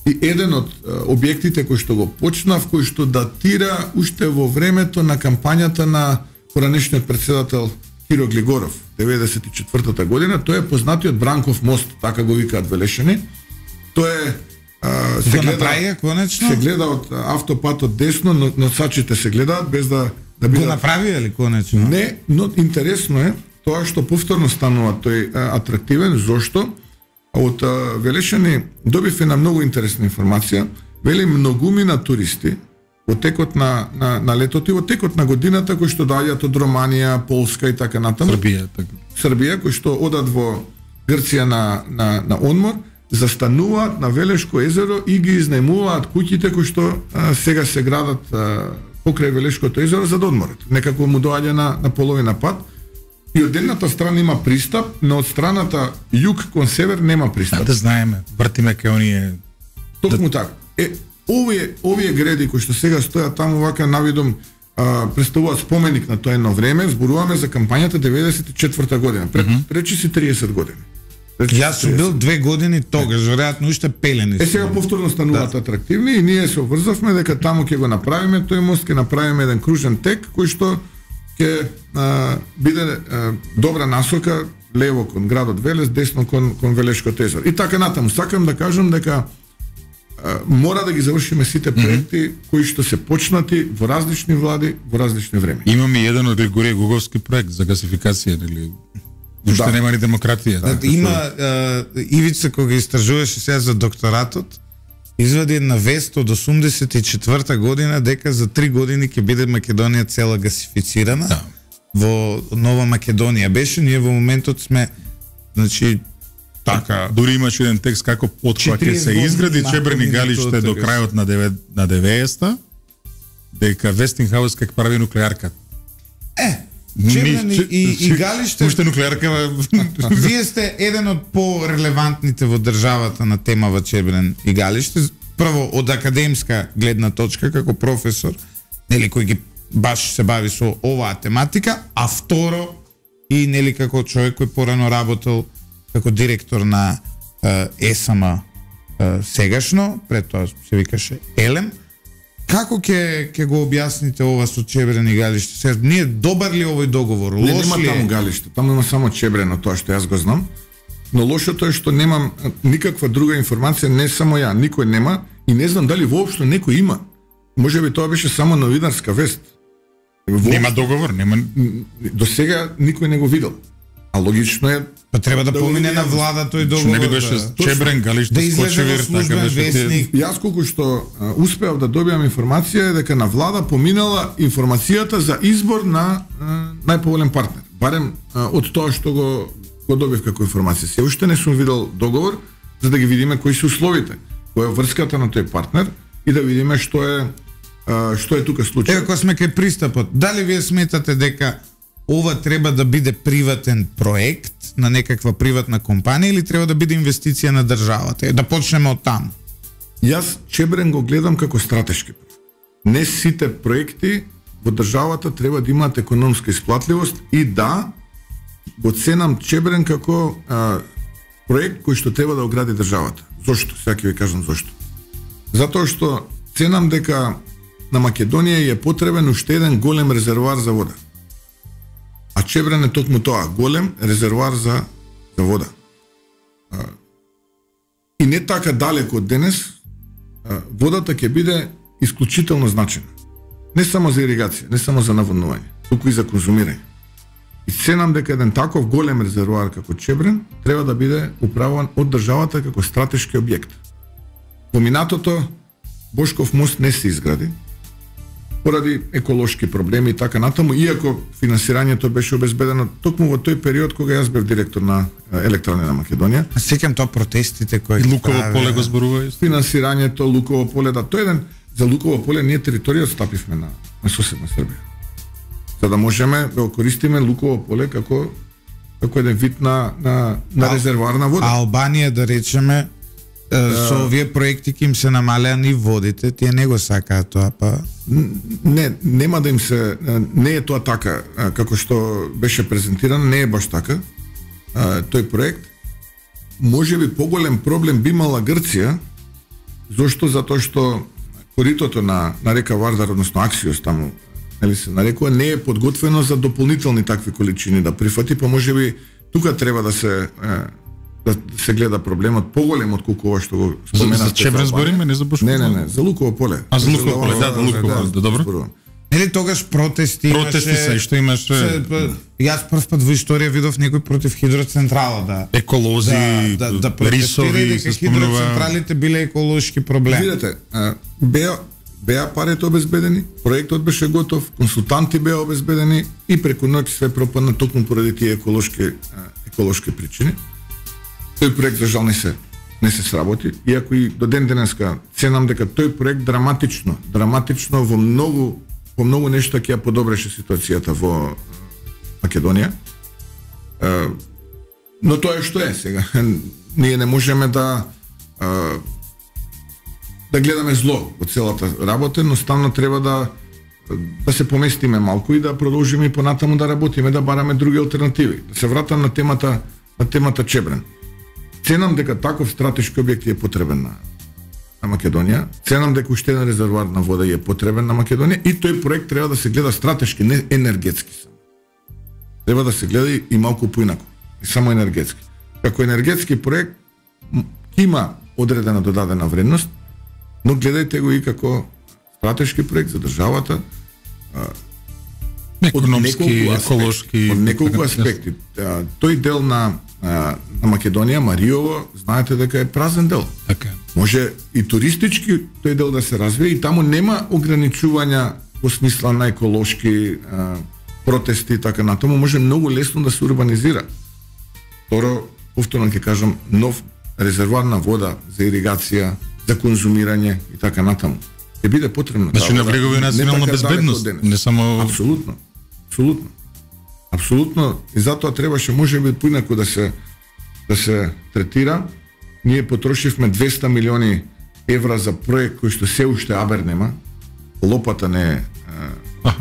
И еден од објектите кој што го почнав, кој што датира уште во времето на кампањата на поранешниот председател Киро Глигоров, 94-та година, тој е познатиот Бранков мост, така го викаат Велешани. Тој е се гледа од автопатот десно, но сачите се гледаат без да бидат. Го направи ли конечно? Не, но интересно е тоа што повторно станува тој атрактивен. Зошто? Од Велешани добив една многу интересна информација. Вели многумина туристи во текот на летото и во текот на годината кои што доаѓаат од Романија, Полска и така натаму. Србија кои што одат во Грција на одмор, застануваат на Велешко езеро и ги изнајмуваат куќите кои што сега се градат покрај Велешкото езеро за да одморат. Некако му доаѓа на половина пат. И од едната страна има пристап, но од страната југ кон север нема пристап. Да знаеме, вртиме кај оние. Токму така. Овие гради кои што сега стојат таму вака навидом представуваат споменик на тоа едно време. Зборуваме за кампањата 94-та година, речи си 30 години. Јас сум бил 2 години тогаш, веројатно уште пелени. Сега повторно стануваат атрактивни и ние се обврзавме дека таму ќе го направиме тој мост, ќе направиме еден кружен тек кој што ќе биде добра насока лево кон градот Велес, десно кон Велешкото езеро. И така натаму, сакам да кажам дека мора да ги завршиме сите проекти кои што се почнати во различни влади, во различни време. Имаме еден од Григорije Гуговски проект за гасификација, нели? Уште нема ни демократија. Има Ивица кога истражуваше сега за докторатот, извади една вест од 84-та година дека за 3 години ќе биде Македонија цела гасифицирана. во Нова Македонија беше, ние во моментот сме, значи, така, дури имаше еден текст како откога ќе се изгради Чебрен игалиште до крајот на 90-та, дека Вестингхаус ќе прави нуклеарка. Чебрен и игалиште. Уште нуклеарка. Вие сте еден од по-релевантните во државата на темава Чебрен игалиште. Прво од академска гледна точка како професор, нели кој ги баш се бави со оваа тематика, а второ и нели како човек кој порано работел како директор на ЕСМ сегашно, пред тоа се викаше ЕЛЕМ. Како ќе го објасните ова со Чебрен игалиште? Сега ние добар ли овој договор? Лош ли? Нема таму галиште, таму има само Чебрено, тоа што јас го знам. Но лошото е што немам никаква друга информација, не само ја, никој нема и не знам дали воопшто некој има. Можеби тоа беше само новинарска вест. Нема договор, нема. До сега никој не го видел. А логично е па треба да помине на влада тој договор. Не ли беше Чебрен галиште Скочевир, така беше. Јас колку што успеав да добиам информација е дека на влада поминала информацијата за избор на најповолен партнер. Барем од тоа што го добив како информација. Се уште не сум видел договор за да ги видиме кои се условите, која е врската на тој партнер и да видиме што е тука случај. Ако сме кај пристапот, дали вие сметате дека ова треба да биде приватен проект на некаква приватна компанија или треба да биде инвестиција на државата? Да почнеме од таму. Јас Чебрен го гледам како стратешки проект. Не сите проекти во државата треба да имаат економска исплатливост и да го ценам Чебрен како проект кој што треба да огради државата. Зошто? Сега ќе ви кажам зошто. Затоа што ценам дека на Македонија е потребен уште еден голем резервоар за вода. А Чебрен е токму тоа, голем резервоар за вода. И не така далеко од денес, водата ќе биде исклучително значена. Не само за иригација, не само за наводнување, туку и за конзумирање. И ценам дека еден таков голем резервоар како Чебрен треба да биде управуван од државата како стратешки објект. Во минатото Бошков мост не се изгради поради еколошки проблеми и така натаму, иако финансирањето беше обезбедено токму во тој период кога јас бев директор на Електрани на Македонија. Сеќам тоа протестите кои Луково поле го зборува. Финансирањето Луково поле, да, тој еден за Луково поле ние територија стапивме на соседна Србија. За да можеме да користиме Луково поле како еден вид на резервоар на вода. А Албанија, да речеме, со овие проекти ќе им се намалеа и водите, тие не го сакаат тоа, па нема да им се, не е тоа така како што беше презентирано, не е баш така. Тој проект можеби поголем проблем би имала Грција. Зошто? Затоа што коритото на река Вардар, односно Аксиос таму, нели се нарекува, не е подготвено за дополнителни такви количини да прифати, па можеби тука треба да се гледа проблемот поголем од колку ова што го споменавте. За Чебрен збориме, не за Бошков? Не, за Луково поле. А за Луково поле, да, Луково, добро. Нели тогаш протести имаше? Протести се, што имаше? Јас прв пат во историја видов некој против хидроцентрала, да. Еколози, да протестира дека хидроцентралите биле еколошки проблем. Видете, беа парите обезбедени, проектот беше готов, консултанти беа обезбедени и преку ноќ све пропадна токму поради тие еколошки причини. Тој проект за жал не се сработи, иако и до ден денеска ценам дека тој проект драматично во многу нешта ќе ја подобреше ситуацијата во Македонија. Но тоа е што е сега. Ние не можеме да гледаме зло во целата работа, но ставно треба да се поместиме малку и да продолжиме и понатаму да работиме, да бараме други алтернативи. Да се вратам на темата Чебрен. Ценам дека таков стратешки објект е потребен на Македонија. Ценам дека уште еден резервоар на вода е потребен на Македонија и тој проект треба да се гледа стратешки, не енергетски само. Треба да се гледа и малку поинаку, и само енергетски. Како енергетски проект има одредена додадена вредност, но гледајте го и како стратешки проект за државата. Економски, еколошки, од неколку аспекти. Тој дел на Македонија, Мариово, знаете дека е празен дел. Така. Може и туристички тој дел да се развие и таму нема ограничувања во смисла на еколошки протести и така натаму, може многу лесно да се урбанизира. Второ, повторно ќе кажам, нов резервоар на вода за иригација, за конзумирање и така натаму. Ќе биде потребно. Значи навлегува и национална безбедност, не само... Апсолутно. Апсолутно. И затоа требаше можеби поинаку да се третира. Ние потрошивме 200 милиони евра за проект кој што се уште абер нема. Лопата не е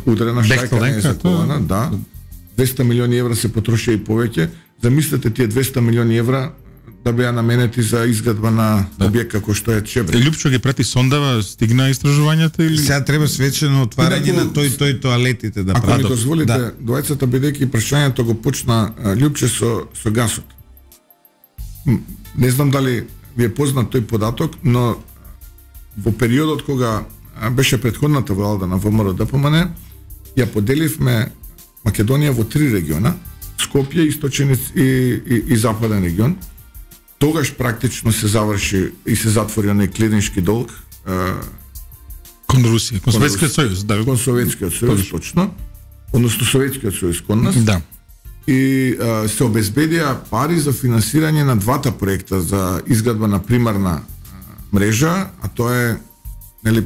ударена, шајка не е заколана, да. 200 милиони евра се потрошија и повеќе. Замислете тие 200 милиони евра да беа наменети за изградба на објект како што е Чебре. Лјупчо ги прати сондава, стигна истражувањата или сега треба свечено отварање на тој тоалетите да прават. Ако ми дозволите, да. Двајцата бидејќи прашањето го почна Лјупче со гасот. Не знам дали ви е познат тој податок, но во периодот кога беше претходната влада на ВМРО ДПМН, ја поделивме Македонија во 3 региона: Скопје, Источен и Западен регион. Тогаш практично се заврши и се затвори оној клириншки долг кон Русија, кон Советскиот сојуз, да. Кон Советскиот сојуз, точно. Односно Советскиот сојуз кон нас. Да. И се обезбедија пари за финансирање на двата проекта за изградба на примарна мрежа, а тоа е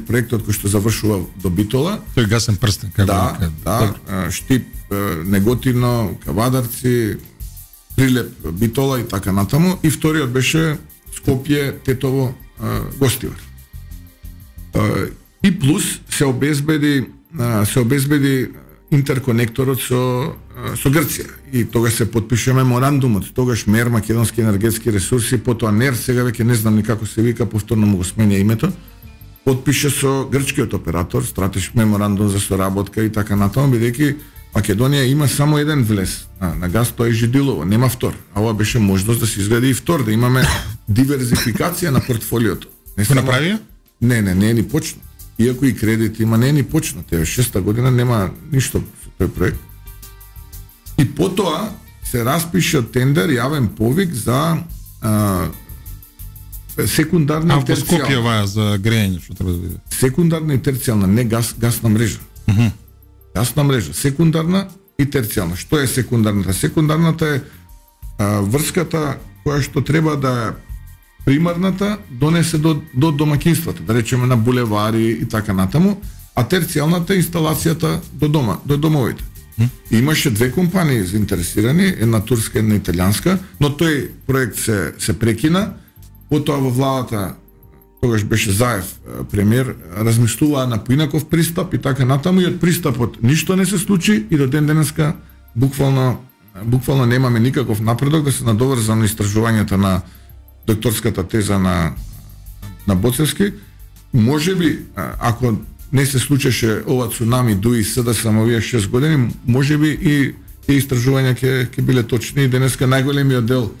проектот кој што завршува до Битола. Тој гасен прстен, како да, Штип, Неготино, Кавадарци, Прилеп, Битола и така натаму. И вториот беше Скопје, Тетово, Гостивар. И плюс се обезбеди интерконекторот со Грција. И тогаш се потпише меморандумот. Тогаш МЕР, Македонски енергетски ресурси, потоа НЕР, сега веќе не знам ни како се вика, повторно му го сменја името, потпише со грчкиот оператор стратешки меморандум за соработка и така натаму, бидејќи Македонија има само еден влез на газ, тоа е Жидилово, нема втор. А ова беше можност да се изгради и втор, да имаме диверзификација на портфолиото. Не се направи? Не е ни почна. Иако и кредит има, не е ни почна. Тева 6-та година нема ништо со тој проект. И потоа се распише тендер, јавен повик за секундарна и терцијална. Скопје ова за грејење, што треба да биде. Секундарна и терцијална, не гасна мрежа. Гасна мрежа, секундарна и терцијална. Што е секундарната? Секундарната е врската која што треба да примарната донесе до домакинствата, да речеме на булевари и така натаму, а терцијалната е инсталацијата до домовите. Имаше две компании заинтересирани, една турска, една италијанска, но тој проект се прекина. Потоа во владата, тогаш беше Заев премиер, размислуваа на поинаков пристап и така натаму, и од пристапот ништо не се случи и до ден денеска буквално немаме никаков напредок да се надоврза на истражувањата на докторската теза на Боцевски. Можеби, ако не се случеше ова цунами дуи да само овие 6 години, можеби и тие истражувања ќе биле точни и денеска најголемиот дел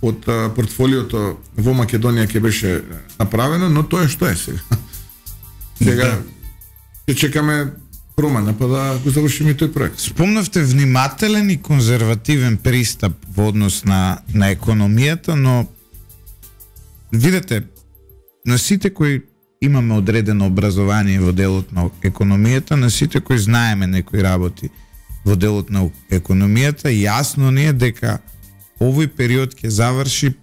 од портфолиото во Македонија ќе беше направено, но тоа е што е сега. Сега ќе чекаме промена па да го завршиме тој проект. Спомнавте внимателен и конзервативен пристап во однос на економијата, но видете, на сите кои имаме одредено образование во делот на економијата, на сите кои знаеме некои работи во делот на економијата, јасно ни е дека овој период ќе заврши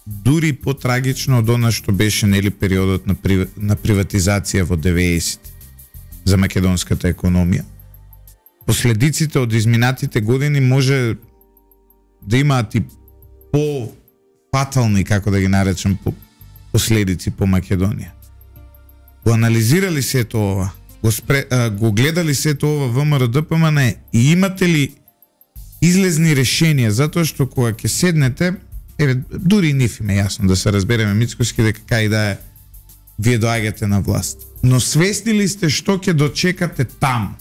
дури потрагично од она што беше периодот на приватизација во 90 за македонската економија. Последиците од изминатите години може да имаат и по-фатални, како да ги наречам, последици по Македонија. Го анализирали сето ова, го гледали сето ова ВМРО ДПМН и имате ли излезни решенија, затоа што кога ќе седнете, дури и ниф им е јасно да се разбереме Мицкоски дека кај да е вие доаѓате на власт. Но свесни ли сте што ќе дочекате таму?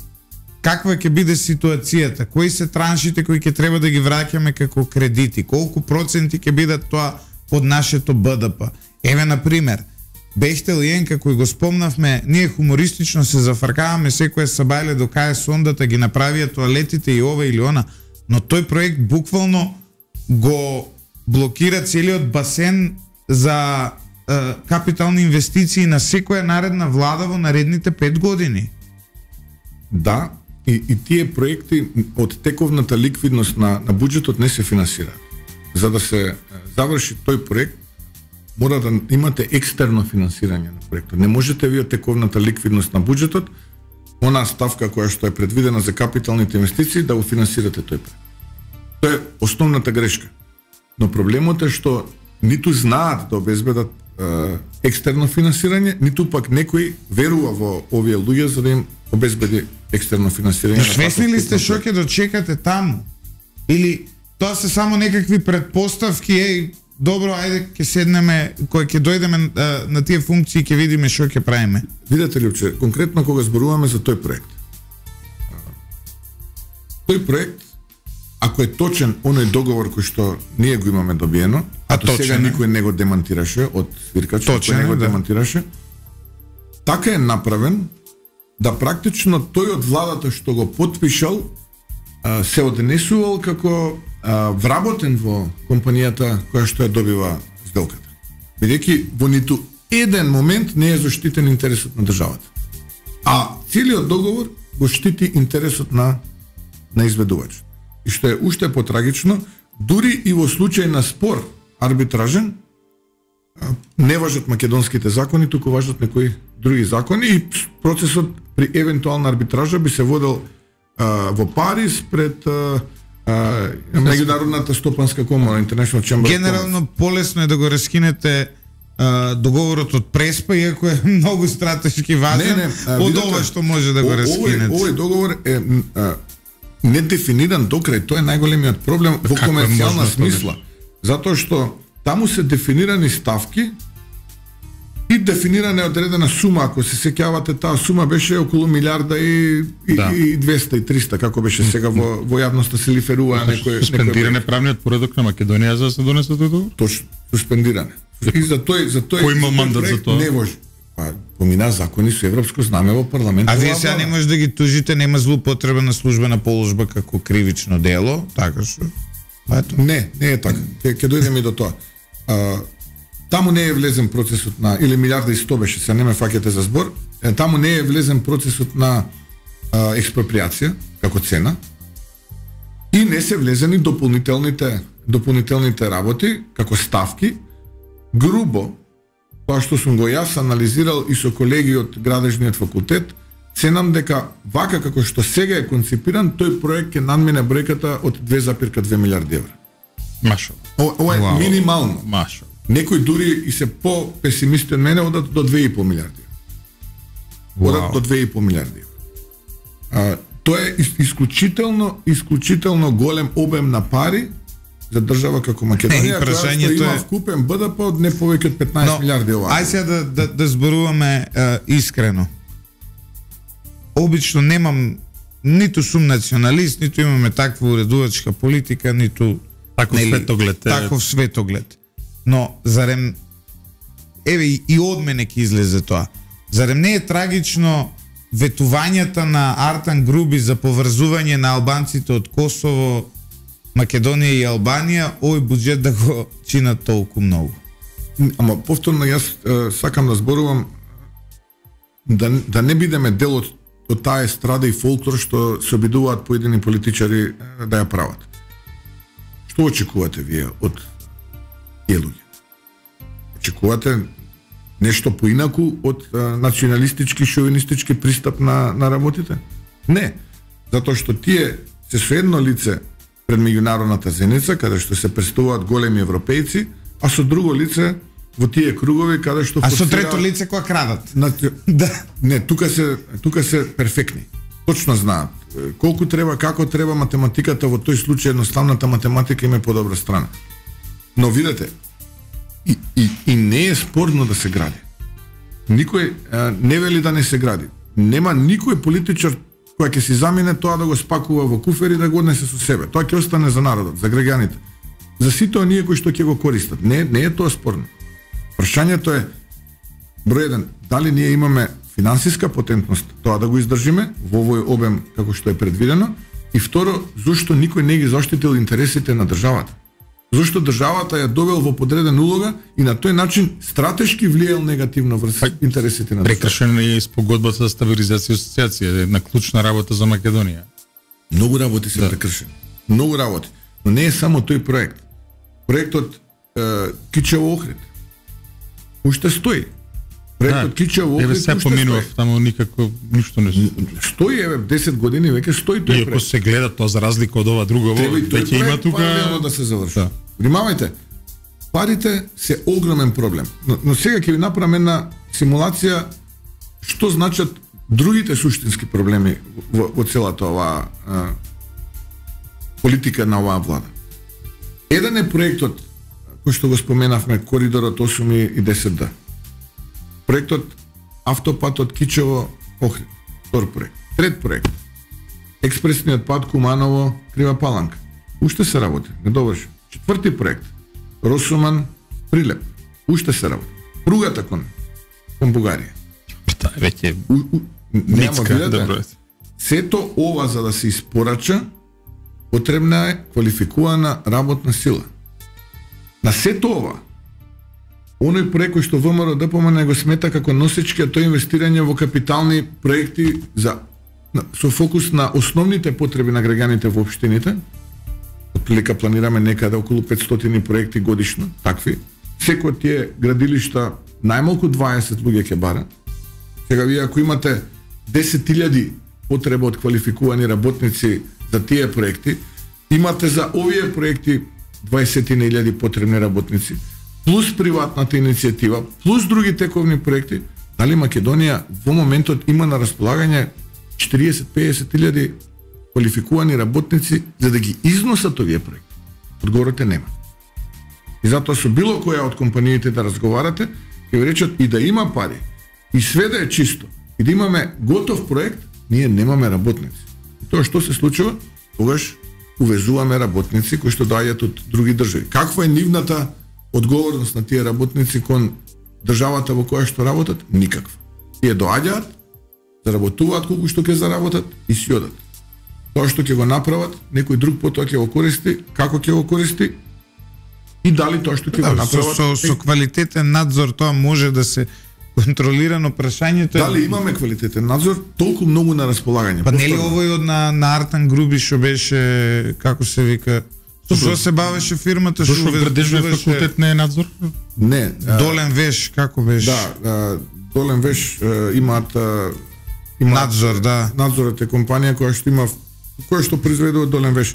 Каква ќе биде ситуацијата? Кои се траншите кои ќе треба да ги враќаме како кредити? Колку проценти ќе бидат тоа од нашето БДП? Еве, например, Бехтел и Енка, кој го спомнавме, ние хумористично се зафркаваме секоја сабајле до кај сондата ги направија тоалетите и ова или она, но тој проект буквално го блокира целиот басен за капитални инвестиции на секоја наредна влада во наредните 5 години. Да, и тие проекти од тековната ликвидност на буџетот не се финансираат. За да се заврши тој проект, мора да имате екстерно финансирање на проектот. Не можете вие тековната ликвидност на буџетот, она ставка која што е предвидена за капиталните инвестиции, да го финансирате тој проект. Тоа е основната грешка. Но проблемот е што ниту знаат да обезбедат екстерно финансирање, ниту пак некој верува во овие луѓе за да им обезбеди екстерно финансирање. Свесни ли сте што ќе дочекате таму? Или тоа се само некакви претпоставки, добро, ајде ќе седнеме, кога ќе дојдеме на тие функции ќе видиме што ќе правиме? Видете ли, че конкретно кога зборуваме за тој проект. Тој проект, ако е точен оној договор кој што ние го имаме добиено, а до сега никој не го демантираше од свиркачот, кој не го демантираше, така е направен да практично тој од владата што го потпишал се однесувал како вработен во компанијата која што ја добива сделката. Бидејќи во ниту еден момент не е заштитен интересот на државата. А целиот договор го штити интересот на изведувачот. И што е уште потрагично, дури и во случај на спор арбитражен, не важат македонските закони, туку важат некои други закони и процесот при евентуална арбитража би се водел во Париз пред Меѓународната стопанска комора, International Chamber of Commerce. Генерално полесно е да го раскинете договорот од Преспа, иако е многу стратешки важен, од ова што може да го раскинете. Овој договор е не дефиниран докрај, тоа е најголемиот проблем во комерцијална смисла. Затоа што таму се дефинирани ставки и дефинирана е одредена сума, ако се сеќавате, таа сума беше околу милиарда и 200 и 300, како беше сега во јавноста се лиферува некој суспендиране правниот поредок на Македонија за да се донесе тој договор? Точно, суспендиране. И за тој кој има мандат за тоа? Не може. Помина закони со европско знаме во парламентот. А вие сега не може да ги тужите, нема злоупотреба на службена положба како кривично дело, така што? Не е така. Ќе дојдеме и до тоа. Таму не е влезен процесот на, или милиарда и 100 беше, се не ме фаќате за збор, таму не е влезен процесот на експроприација, како цена, и не се влезени дополнителните работи, како ставки, грубо, тоа што сум го јас анализирал и со колеги од градежниот факултет, ценам дека вака како што сега е концепиран, тој проект ќе надмине бројката од 2,2 милиарди евра. Машо. Ова е минимално. Машо. Некои дури и се по-песимисти од мене одат до 2,5 милиарди. Одат до 2,5 милиарди. Тоа е исклучително голем обем на пари за држава како Македонија, која што има вкупен БДП од не повеќе од 15 милиарди ова. Ај сега да зборуваме искрено. Обично немам, ниту сум националист, ниту имаме таква уредувачка политика, ниту таков светоглед. Но зарем и од мене ќе излезе тоа. Зарем не е трагично ветувањата на Артан Груби за поврзување на албанците од Косово, Македонија и Албанија, овој буџет да го чинат толку многу? Ама повторно јас сакам да зборувам да не бидеме дел од таа естрада и фолклор што се обидуваат поедини политичари да ја прават. Што очекувате вие од тие луѓе? Очекувате нешто поинаку од националистички, шовинистички пристап на работите? Не, затоа што тие се со едно лице пред меѓународната зеница, каде што се представуваат големи европејци, а со друго лице во тие кругови каде што А со трето лице која крадат? Да. Не, тука се перфектни. Точно знаат колку треба, како треба математиката, во тој случај едноставната математика има подобра страна. Но видете, и не е спорно да се гради. Никој не вели да не се гради. Нема никој политичар кој ќе си замине тоа да го спакува во куфер и да го однесе со себе. Тоа ќе остане за народот, за граѓаните. За сите оние кои што ќе го користат. Не е тоа спорно. Прашањето е број 1, дали ние имаме финансиска потентност тоа да го издржиме во овој обем како што е предвидено, и второ, зошто никој не ги заштитил интересите на државата? Зошто државата ја довел во подредена улога и на тој начин стратешки влијал негативно врз интересите на државата. Прекршена е спогодбата за стабилизација и асоциација, една клучна работа за Македонија. Многу работи се прекршени. Многу работи. Но не е само тој проект. Проектот Кичево Охрид уште стои. Проектот Кичево Охрид уште стои. Поминував, таму никако ништо не стои, 10 години веќе стои тој проект. Иако се гледа тоа за разлика од ова друго, веќе има тука да се заврши. Да. Внимавајте. Парите се огромен проблем. Но сега ќе ви направам една симулација што значат другите суштински проблеми во целата оваа политика на оваа влада. Еден е проектот кој што го споменавме, коридорот 8 и 10D. Проектот автопатот Кичево Охрид. Втор проект. Трет проект. Експресниот пат Куманово Крива Паланка. Уште се работи, не доврши. Четврти проект. Росуман Прилеп. Уште се работи. Пругата кон Бугарија. Та веќе нема добро. Сето ова за да се испорача потребна е квалификувана работна сила. На сето ова, оној проект кој што ВМРО ДПМН го смета како носечки, а тоа инвестирање во капитални проекти со фокус на основните потреби на граѓаните во општините. Отприлика планираме некаде околу 500 проекти годишно, такви. Секој од тие градилишта најмалку 20 луѓе ќе бара. Сега вие ако имате 10.000 потреба од квалификувани работници за тие проекти, имате за овие проекти 20.000 потребни работници, плюс приватната иницијатива, плюс други тековни проекти, дали Македонија во моментот има на располагање 40-50.000 квалификувани работници за да ги износат овие проекти? Одговорот е нема. И затоа со било која од компаниите да разговарате, ќе ви речат и да има пари, и све да е чисто, и да имаме готов проект, ние немаме работници. И тоа што се случува? Тогаш увезуваме работници кои што доаѓаат од други држави. Каква е нивната одговорност на тие работници кон државата во која што работат? Никаква. Тие доаѓаат, заработуваат колку што ќе заработат и си одат. Тоа што ќе го направат, некој друг потоа ќе го користи, како ќе го користи и дали тоа што ќе го направат. Со квалитетен надзор тоа може да се контролирано прашањето. Дали имаме квалитетен надзор, толку многу на располагање. Па нели овој од на Артан Груби што беше, како се вика, што се бавеше фирмата, што градежниот факултет не е надзор? Не. Долен Веш, како беше? Да, Долен Веш имаат надзор, да. Надзорот е компанија која што произведува Долен Веш.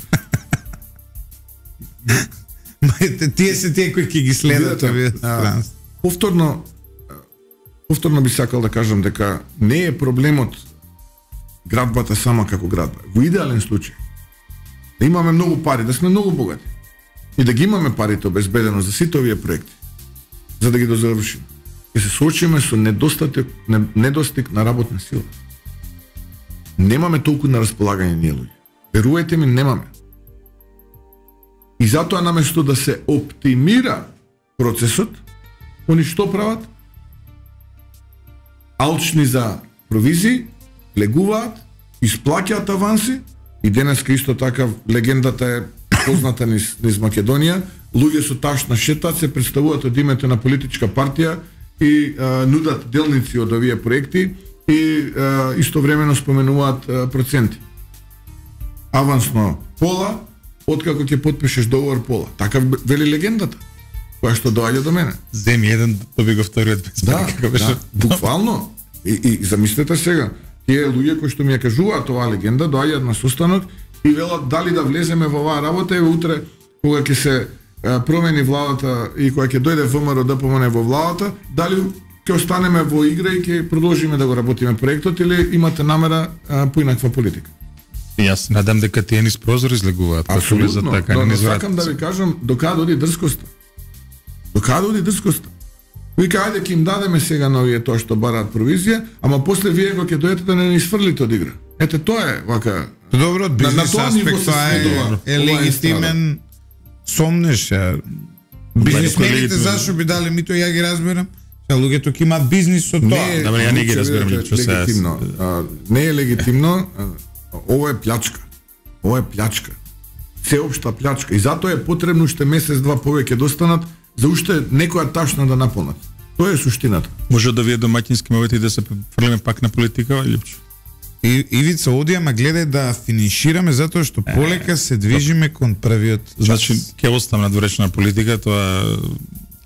Тие се тие кои ќе ги следат овие страни. Повторно би сакал да кажам дека не е проблемот градбата сама како градба. Во идеален случај да имаме многу пари, да сме многу богати и да ги имаме парите обезбедено за сите овие проекти, за да ги дозавршиме. Ќе се соочиме со недостиг на работна сила. Немаме толку на располагање ние луѓе. Верувајте ми, немаме. И затоа наместо да се оптимира процесот, они што прават? Алчни за провизии, легуваат, исплаќаат аванси и денеска исто така легендата е позната низ Македонија, луѓе со ташна шетат се представуваат од името на политичка партија и нудат делници од овие проекти и истовремено споменуваат проценти. Авансно пола, откако ќе потпишеш договор пола. Така вели легендата, која што доаѓа до мене. Земи еден, доби го вториот без пари. Да, буквално. И замислете сега, тие луѓе кои што ми ја кажуваат оваа легенда, доаѓаат на состанок и велат дали да влеземе во оваа работа и утре кога ќе се промени владата и кога ќе дојде ВМРО ДПМН во владата, дали ќе останеме во игра и ќе продолжиме да го работиме проектот или имате намера поинаква политика? Јас надам дека тие низ прозор излегуваат, како влезат така низ врат. Сакам да ви кажам докаде оди дрскоста. Докаде оди дрскоста. Вика, ајде ќе им дадеме сега на овие тоа што бараат провизија, ама после вие кога ќе дојдете да не ни сврлите од игра. Ете тоа е вака. Добро, од бизнес аспект тоа е легитимен сомнеш. Бизнисмените зашо би дали мито, ја ги разберам. Луѓето ќе имаат бизнис со тоа. Добре, ја не ги разберам лично сега. Не е легитимно. Ова е плячка. Ова е плячка. сеопшта плячка. И затоа е потребно уште месец-два повеќе да останат за уште некоја ташна да наполнат. Тоа е суштината. Може да вие домаќински мовети да се фрлиме пак на политика, Лјупчо? Ивица, оди, ама гледај да финишираме, затоа што полека се движиме кон првиот час. Значи, ќе оставам надворешна политика, тоа...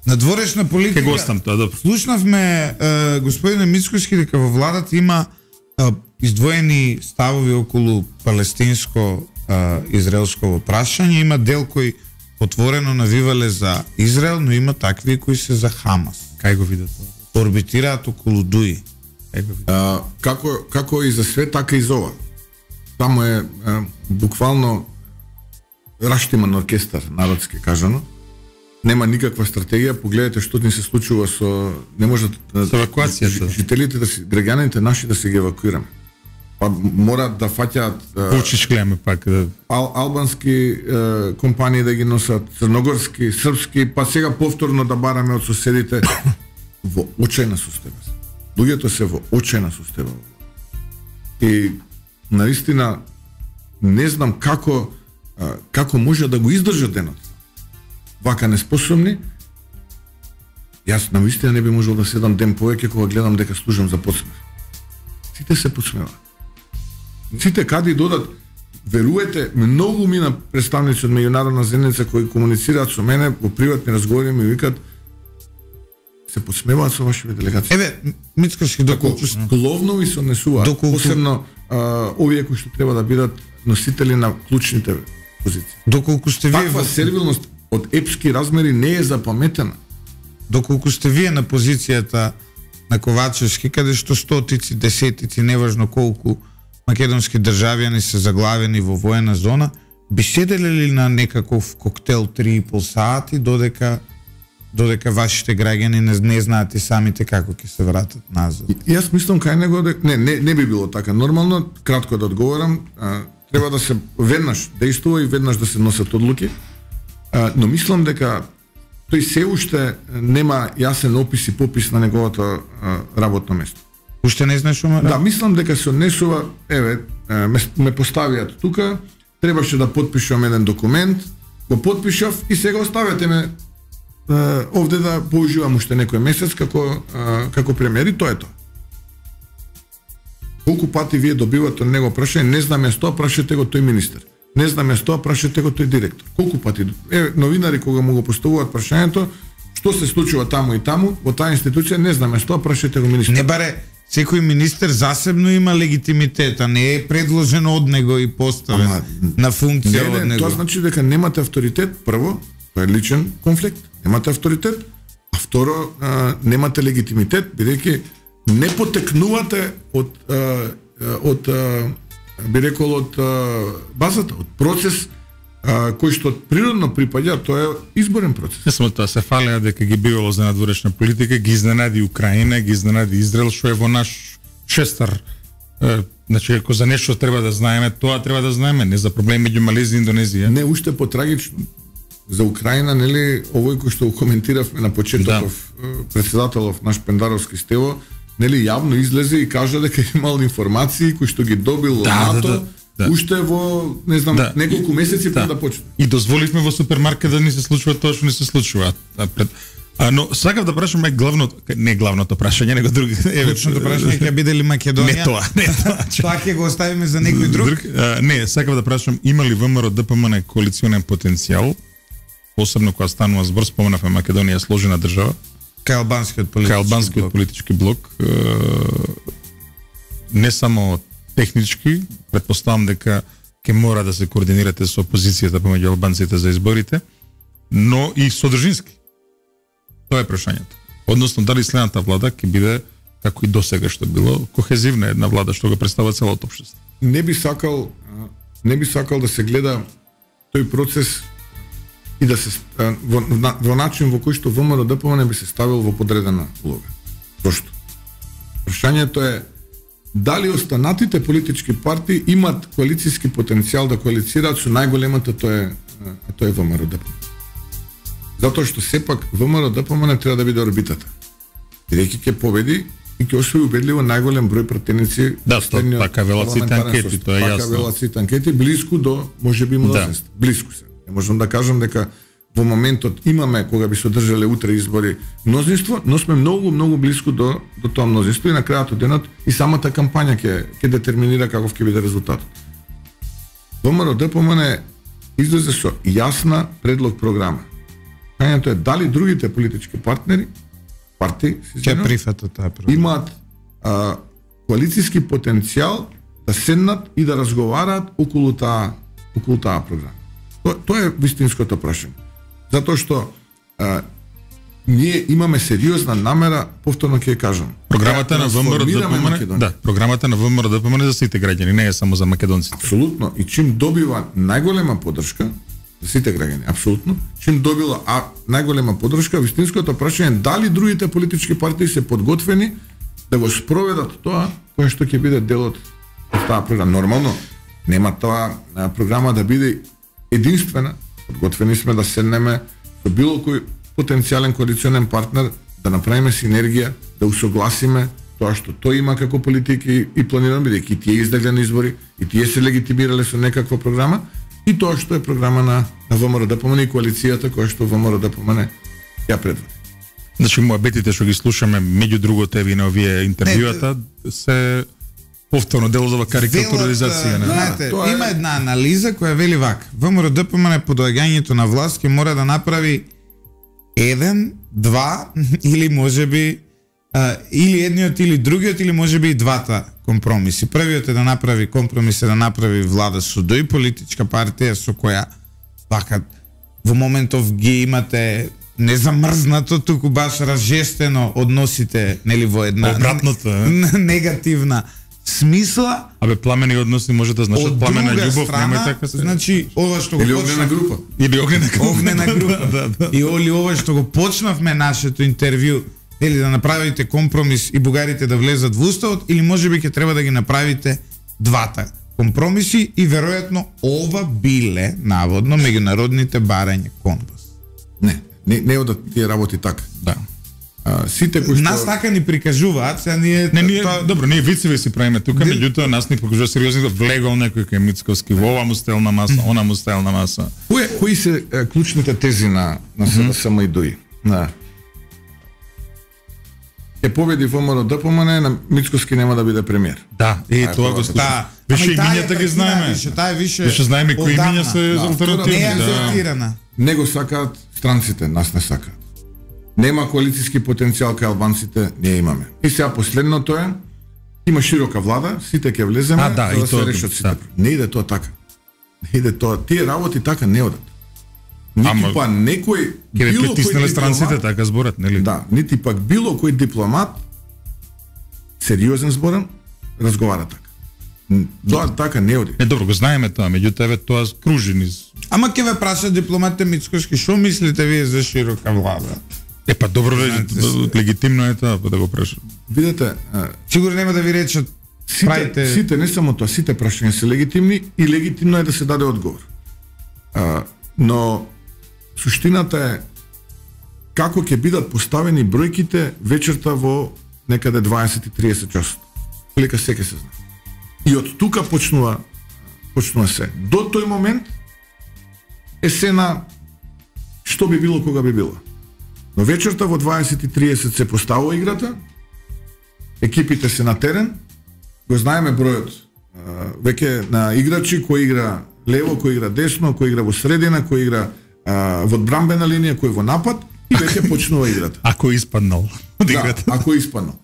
Надворешна политика... Ќе го оставам тоа, добро. Слушнавме, господине Мицкоски, дека во владата има издвоени ставови околу палестинско-израелско прашање. Има дел кој отворено навивале за Израел, но има такви кои се за Хамас. Кај го видат тоа? Орбитираат околу Дуи. Како и за све, така и за ова. Таму е буквално раштиман оркестар, народски кажано. Нема никаква стратегија, погледате што ни се случува со... Не можат евакуацијата. Жителите, граѓаните наши да се ги евакуираме. Па морат да фаќаат Почичклеме пак албански компании да ги носат, црногорски, српски, па сега повторно да бараме од соседите во очајна состојба. Луѓето се во очајна состојба. И наистина не знам како може да го издржат денот. Вака неспособни. Јас наистина не би можел да седам ден повеќе кога гледам дека служам за подсмех. Сите се подсмеваат. Сите каде додат, веруете, многу мина представници од меѓународна заедница кои комуницираат со мене во приватни разговори ми викаат се подсмеваат со вашите делегации. Еве, Мицкоски, доколку главно ви се однесуваат, посебно овие кои што треба да бидат носители на клучните позиции. Доколку сте вие таква сервилност од епски размери не е запаметена. Доколку сте вие на позицијата на Ковачевски, каде што стотици, десетици, неважно колку македонски државјани се заглавени во воена зона, би седеле ли на некаков коктел 3,5 сати додека вашите граѓани не знаат и самите како ќе се вратат назад? Јас мислам кај него не би било така. Нормално, кратко да одговорам, треба да се веднаш действува и веднаш да се носат одлуки, но мислам дека тој се уште нема јасен опис и попис на неговото работно место. Уште не знаеш ама? Да, мислам дека се однесува, ме поставиат тука, требаше да потпишам еден документ, го потпишав и сега оставете ме овде да поуживам уште некој месец како премиер, и тоа е тоа. Колку пати вие добивате од него прашање, не знам јас тоа, прашете го тој министер. Не знам јас тоа, прашете го тој директор. Колку пати новинари кога му го поставуваат прашањето, што се случува таму и таму, во таа институција, не знам јас тоа, прашете го министер. Не баре, секој министер засебно има легитимитет, а не е предложено од него и поставен на функција од него. Тоа значи дека немате авторитет, прво, тоа е личен конфликт, немате авторитет, а второ, немате легитимитет, бидејќи не потекнувате од би рекол од базата, од процес кој што природно припаѓа, тоа е изборен процес. Не само тоа, се фалеа дека ги бивало за надворешна политика, ги изненади Украина, ги изненади Израел, што е во наш шестар. Значи, ако за нешто треба да знаеме, тоа треба да знаеме, не за проблеми меѓу Малезија и Индонезија. Не, уште потрагично. За Украина, нели, овој кој што го коментиравме на почетоков, председателов наш Пендаровски Стево, нели, јавно излезе и кажа дека имал информации кои што ги добил од НАТО, уште во, не знам, неколку месеци пред да почне. И дозволивме во супермаркет да ни се случува тоа што не се случува. Но сакав да прашам главното прашање, него други. Клучното прашање ќе биде ли Македонија? Не тоа. Тоа ќе го оставиме за некој друг. Не, сакав да прашам, има ли ВМРО ДПМН коалиционен потенцијал, посебно кога станува збор, споменавме Македонија сложена држава, кај албанскиот политички блок, не само технички, претпоставам дека ќе мора да се координирате со опозицијата помеѓу албанците за изборите, но и содржински. Тоа е прашањето. Односно, дали следната влада ќе биде, како и досега што било, кохезивна една влада што го представува целото општество. Не би сакал да се гледа тој процес и да се во начин во кој што ВМРО ДПМН би се ставил во подредена улога. Зошто? Прашањето е дали останатите политички партии имат коалицијски потенцијал да коалицираат со најголемата, тоа е ВМРО ДПМН. Затоа што сепак ВМРО ДПМН треба да биде орбитата. Бидејќи ќе победи и ќе освои убедливо најголем број пратеници. Да, така велат сите анкети, тоа е јасно. Така велат сите анкети, блиску до можеби мнозинство. Блиску се. Не можам да кажам дека во моментот имаме, кога би се одржале утре избори, мнозинство, но сме многу блиску до тоа мнозинство и на крајот од денот и самата кампања ќе детерминира каков ќе биде резултатот. ВМРО-ДПМН излезе со јасна предлог програма. Кањето е дали другите политички партии ќе прифатат таа програма. Имаат коалициски потенцијал да седнат и да разговараат околу таа програма. Тоа е вистинското прашање. Затоа што ние имаме сериозна намера, повторно ќе кажам. Програмата на ВМРО-ДПМН, да, програмата на ВМРО-ДПМН за сите граѓани, не е само за македонците. Апсолутно. И чим добива најголема поддршка за сите граѓани, апсолутно, чим добила најголема поддршка, вистинското прашање е дали другите политички партии се подготвени да го спроведат тоа кое што ќе биде дел од таа програма. Нормално нема таа програма да биде единствена. Подготвени сме да седнеме со било кој потенцијален коалиционен партнер, да направиме синергија, да усогласиме тоа што тој има како политики и планираме, бидејќи тие издагле на избори и тие се легитимирале со некаква програма, и тоа што е програма на ВМРО-ДПМН и коалицијата која што ВМРО-ДПМН ја предводи. Значи, муабетите што ги слушаме, меѓу другото еви на овие интервјуата, се повторно делозова карикатуризација. Знаете, има една анализа која вели вака: ВМРО-ДПМН по доаѓањето на власт ќе мора да направи 1, 2 или можеби или едниот или другиот или можеби и двата компромиси. Првиот е да направи компромис, да направи влада со дој политичка партија со која вака во моментов ги имате не замрзнато, туку баш разжестено односите, нели, во една обратното негативна смисла. Абе, пламени односи може да значат пламена љубов, нема така се. Значи, ова што го или огнена група. Или огнена група. Да. И ова што го почнавме нашето интервју, или да направите компромис и бугарите да влезат во уставот, или можеби ќе треба да ги направите двата компромиси и веројатно ова биле наводно меѓународните барања компас. Не одат тие работи така. Да. Сите кои што нас така ни прикажуваат, сега ние добро, ние вицеви си правиме тука, меѓутоа нас ни покажува сериозно, влегол некој кај Мицковски, во ова му стелна маса, она му стелна маса. Кои се клучните тези на СДСМ и ДОИ? Ќе победи ВМРО-ДПМН, на Мицковски нема да биде премиер. Да, тоа го става. Више имињата ги знаеме. Више знаеме кои имиња се алтернативни. Не го сакаат странците, нас не сакаат. Нема коалициски потенцијал кај албанците, ние имаме. И сега последното е, има широка влада, сите ќе влеземе за да се решат сите. Не иде тоа така. Не иде тоа. Тие работи така не одат. Нити па некој ќе притиснале странците така зборат, нели? Да, нити пак било кој дипломат сериозен зборен разговара така. Тоа така не оди. Добро, го знаеме тоа, меѓутоа тоа кружи низ. Ама ќе ве прашат дипломатите Мицкошки, што мислите вие за широка влада? Па добро, легитимно е тоа, па да го прашам. Видете, сигурно нема да ви речат сите не само тоа, сите прашања се легитимни и легитимно е да се даде одговор. Но суштината е како ќе бидат поставени бројките вечерта во некаде 20-30 часот. Лека се ќе се знае. И од тука почнува се. До тој момент е се на што би било кога би било. Но вечерта во 20:30 се поставува играта, екипите се на терен, го знаеме бројот веќе на играчи, кој игра лево, кој игра десно, кој игра во средина, кој игра во одбрамбена линија, кој во напад, и веќе почнува играта. Ако испаднал од играта. Да, ако испаднал.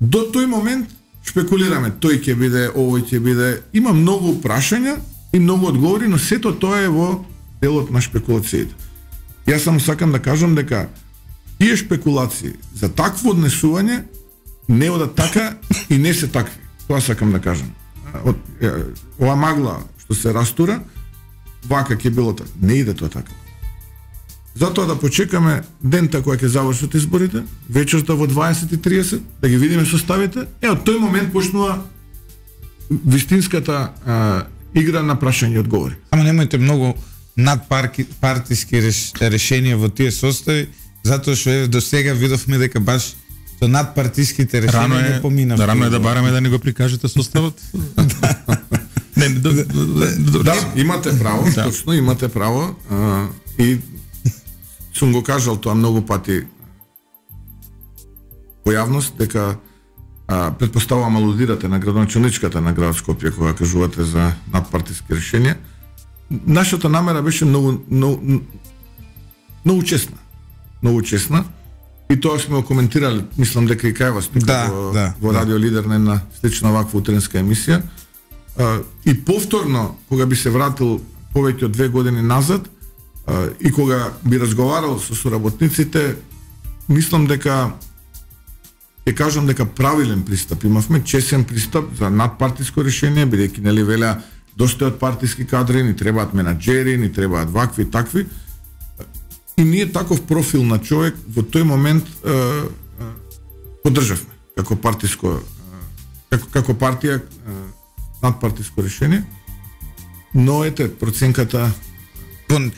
До тој момент шпекулираме, тој ќе биде, овој ќе биде, има многу прашања и многу одговори, но сето тоа е во делот на шпекулациите. Јас само сакам да кажам дека тие шпекулации за такво однесување не одат така и не се такви. Тоа сакам да кажам. Ова магла што се растура, вака ќе било така. Не иде тоа така. Затоа да почекаме дента која ќе завршат изборите, вечерта во 20:30, да ги видиме составите, од тој момент почнува вистинската игра на прашање и одговори. Ама немојте многу надпартиски решенија во тие состави, затоа што до сега видовме дека баш со надпартиските решенија поминав. Рано е да бараме да ни го прикажете составот. Да, имате право, точно имате право, и сум го кажал тоа многу пати во јавност, дека претпоставувам алудирате на градоначалничката на град Скопје кога кажувате за надпартиски решенија. Нашата намера беше многу честна. Многу честна. И тоа сме го коментирали, мислам дека и кај вас тука во Радио Лидер на една слична ваква утренска емисија. И повторно, кога би се вратил повеќе од 2 години назад, и кога би разговарал со соработниците, мислам дека ќе кажам дека правилен пристап имавме, честен пристап за надпартиско решение, бидејќи нели велеа доста од партиски кадри, ни требаат менаџери, ни требаат вакви и такви. И ние таков профил на човек во тој момент поддржавме како партиско како партија надпартиско решение, но ете проценката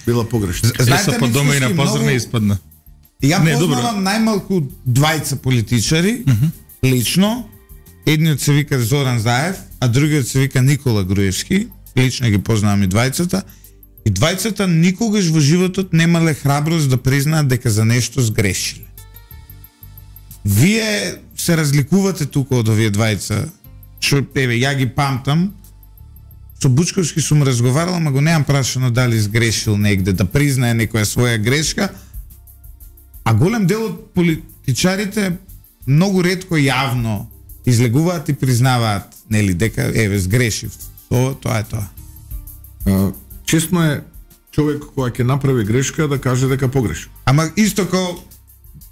била погрешна. Знаете, по дома и на пазар не испадна. Ја познавам најмалку двајца политичари, лично. Едниот се вика Зоран Заев, а другиот се вика Никола Груевски. Лично ги познавам и двајцата. И двајцата никогаш во животот немале храброст да признаат дека за нешто сгрешиле. Вие се разликувате тука од овие двајца. Што, ја ги памтам. Со Бучковски сум разговарал, ама го немам прашано дали сгрешил негде, да признае некоја своја грешка. А голем дел од политичарите многу ретко јавно излегуваат и признаваат, нели, дека еве сгрешив. Тоа е тоа. Честно е човек кој ќе направи грешка да каже дека погрешил. Ама исто како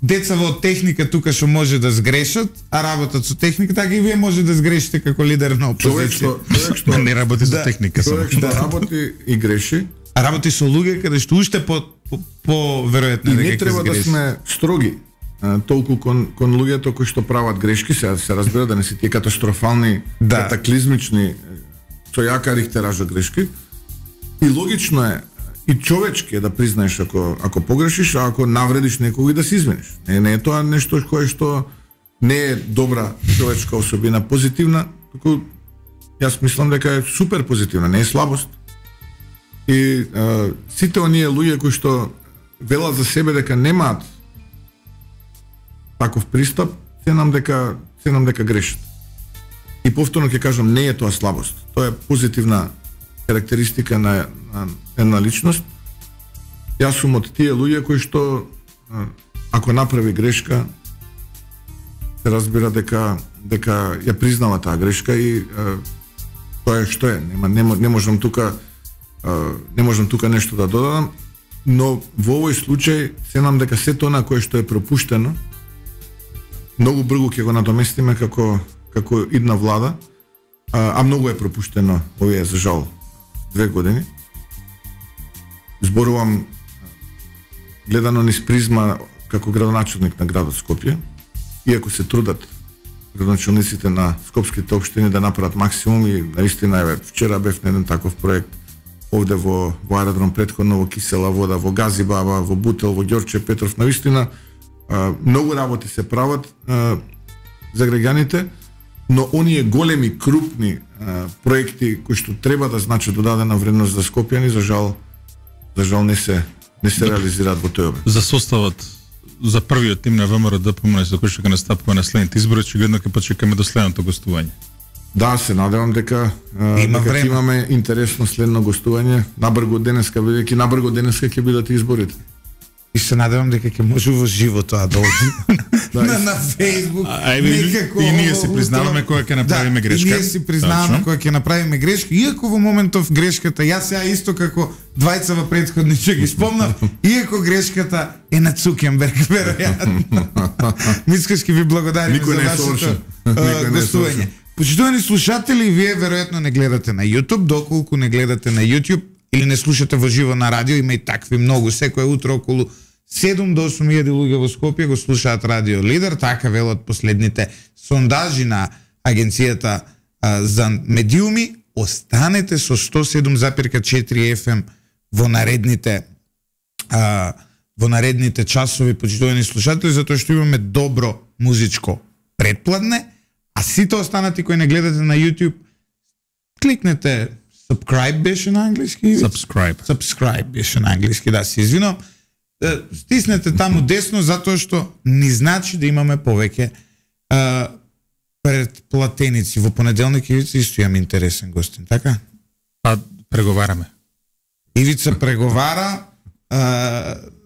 деца во техника тука што може да сгрешат, а работат со техника, така и вие може да сгрешите како лидер на опозиција. Човек што не работи со техника, човек што работи и греши, а работи со луѓе каде што уште по веројатно дека не треба да сме строги толку кон луѓето кои што прават грешки, се разбира да не се тие катастрофални, катаклизмични со јака рихтеража грешки. И логично е и човечки е да признаеш ако погрешиш, а ако навредиш некој да се извиниш. Не е тоа нешто кое што не е добра човечка особина, позитивна, туку јас мислам дека е супер позитивна, не е слабост. И сите оние луѓе кои што велат за себе дека немаат таков пристап, се нам дека грешат. И повторно ќе кажам, не е тоа слабост. Тоа е позитивна карактеристика на една личност. Јас сум од тие луѓе кои што ако направи грешка се разбира дека ја признава таа грешка и тоа е што е. Не можам тука нешто да додадам, но во овој случај се нам дека сето она кое што е пропуштено многу брзо ќе го надоместиме како идна влада, а многу е пропуштено овие за жал 2 години. Зборувам гледано низ призма како градоначалник на градот Скопје, иако се трудат градоначалниците на скопските општини да направат максимум и наистина еве вчера бев на еден таков проект овде во аеродром претходно во Кисела вода, во Газибаба, во Бутел, во Ѓорче Петров, навистина многу работи се прават за граѓаните, но оние големи, крупни проекти кои што треба да значат додадена вредност за скопјани, за жал не се реализираат во тој обем. За составот за првиот тим на ВМРО ДПМН за кој што ќе настапува на следните избори, очигледно ќе почекаме до следното гостување. Да, се надевам дека имаме интересно следно гостување набрго денеска, бидејќи набрго денеска ќе бидат изборите. И се надевам дека ќе може во живо тоа да оди на Facebook. И ние си признаваме кога ќе направиме грешка. И ние си признаваме кога ќе направиме грешка, иако во моментов грешката, јас сега исто како двајца во претходниче ги спомнав, иако грешката е на Цукенберг, веројатно. Мицкашки ви благодарим за вашето гостување. Почитувани слушатели, вие веројатно не гледате на YouTube, доколку не гледате на YouTube или не слушате во живо на радио, има и такви многу, секој утро околу 7 до 8.000 луѓе во Скопје го слушаат Радио Лидер, така велат последните сондажи на Агенцијата за медиуми. Останете со 107,4 FM во наредните часови, почитувани слушатели, затоа што имаме добро музичко претпладне, а сите останати кои не гледате на YouTube, кликнете subscribe беше на англиски. Subscribe беше на англиски, да, се извинувам. Стиснете таму десно затоа што ни значи да имаме повеќе предплатеници. Во понеделник Ивица исто имам интересен гостин, така? Па преговараме. Ивица преговара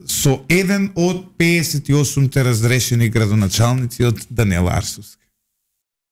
со еден од 58-те разрешени градоначалници од Даниела Арсовска.